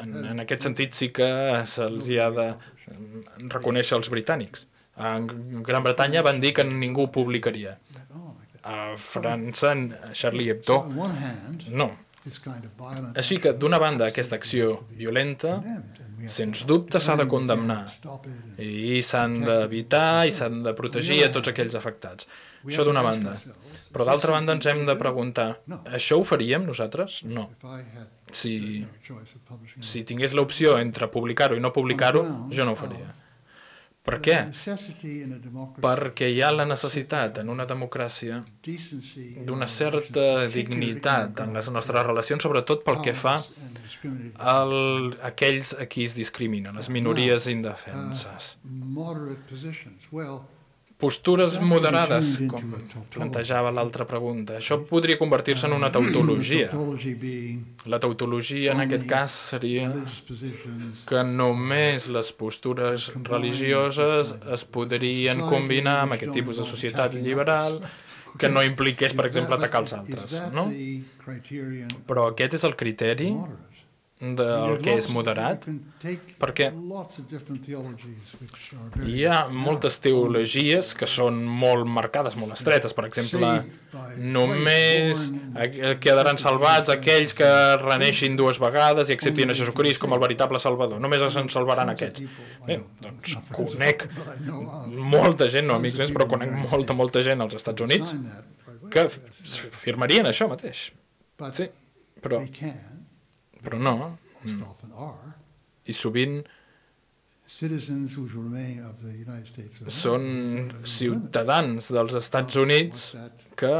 en, en aquest sentit sí que se'ls ha de reconèixer als britànics. A Gran Bretanya van dir que ningú ho publicaria. A França, Charlie Hebdo, no. Així que, d'una banda, aquesta acció violenta, sens dubte s'ha de condemnar i s'han d'evitar i s'han de protegir a tots aquells afectats. Això d'una banda. Però d'altra banda ens hem de preguntar, això ho faríem nosaltres? No. Si, si tingués l'opció entre publicar-ho i no publicar-ho, jo no ho faria. Per què? Perquè hi ha la necessitat en una democràcia d'una certa dignitat en les nostres relacions, sobretot pel que fa a aquells a qui es discrimina, les minories indefenses. Postures moderades, com plantejava l'altra pregunta. Això podria convertir-se en una tautologia. La tautologia, en aquest cas, seria que només les postures religioses es podrien combinar amb aquest tipus de societat liberal que no impliqués, per exemple, atacar els altres. No? Però aquest és el criteri del que és moderat, perquè hi ha moltes teologies que són molt marcades, molt estretes. Per exemple, només quedaran salvats aquells que reneixin dues vegades i acceptin a Jesucrist com el veritable Salvador. Només se'n salvaran aquests. Bé, doncs conec molta gent, no amics meus, però conec molta, molta gent als Estats Units que firmarien això mateix. Sí, però... Però no. I sovint són ciutadans dels Estats Units que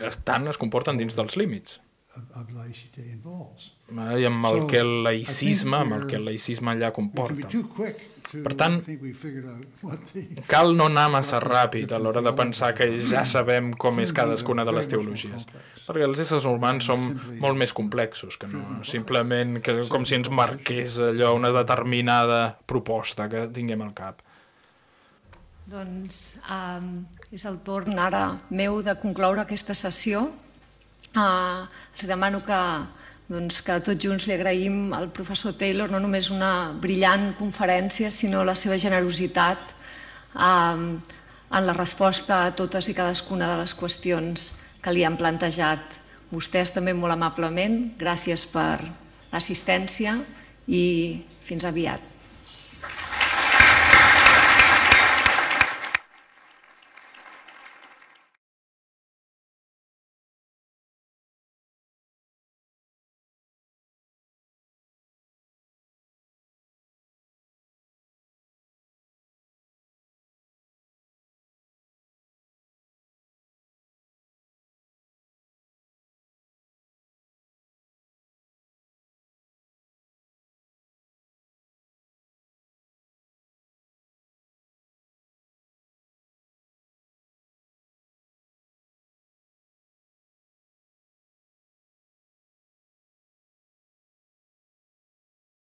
estan, es comporten dins dels límits. I amb el que el laïcisme, amb el que el laïcisme allà comporta. Per tant, cal no anar massa ràpid a l'hora de pensar que ja sabem com és cadascuna de les teologies, perquè els éssers humans són molt més complexos que no, simplement que, com si ens marqués allò una determinada proposta que tinguem al cap. Doncs um, és el torn ara meu de concloure aquesta sessió. Uh, els demano que doncs que tots junts li agraïm al professor Taylor no només una brillant conferència, sinó la seva generositat en la resposta a totes i cadascuna de les qüestions que li han plantejat. Vostès també molt amablement, gràcies per l'assistència i fins aviat.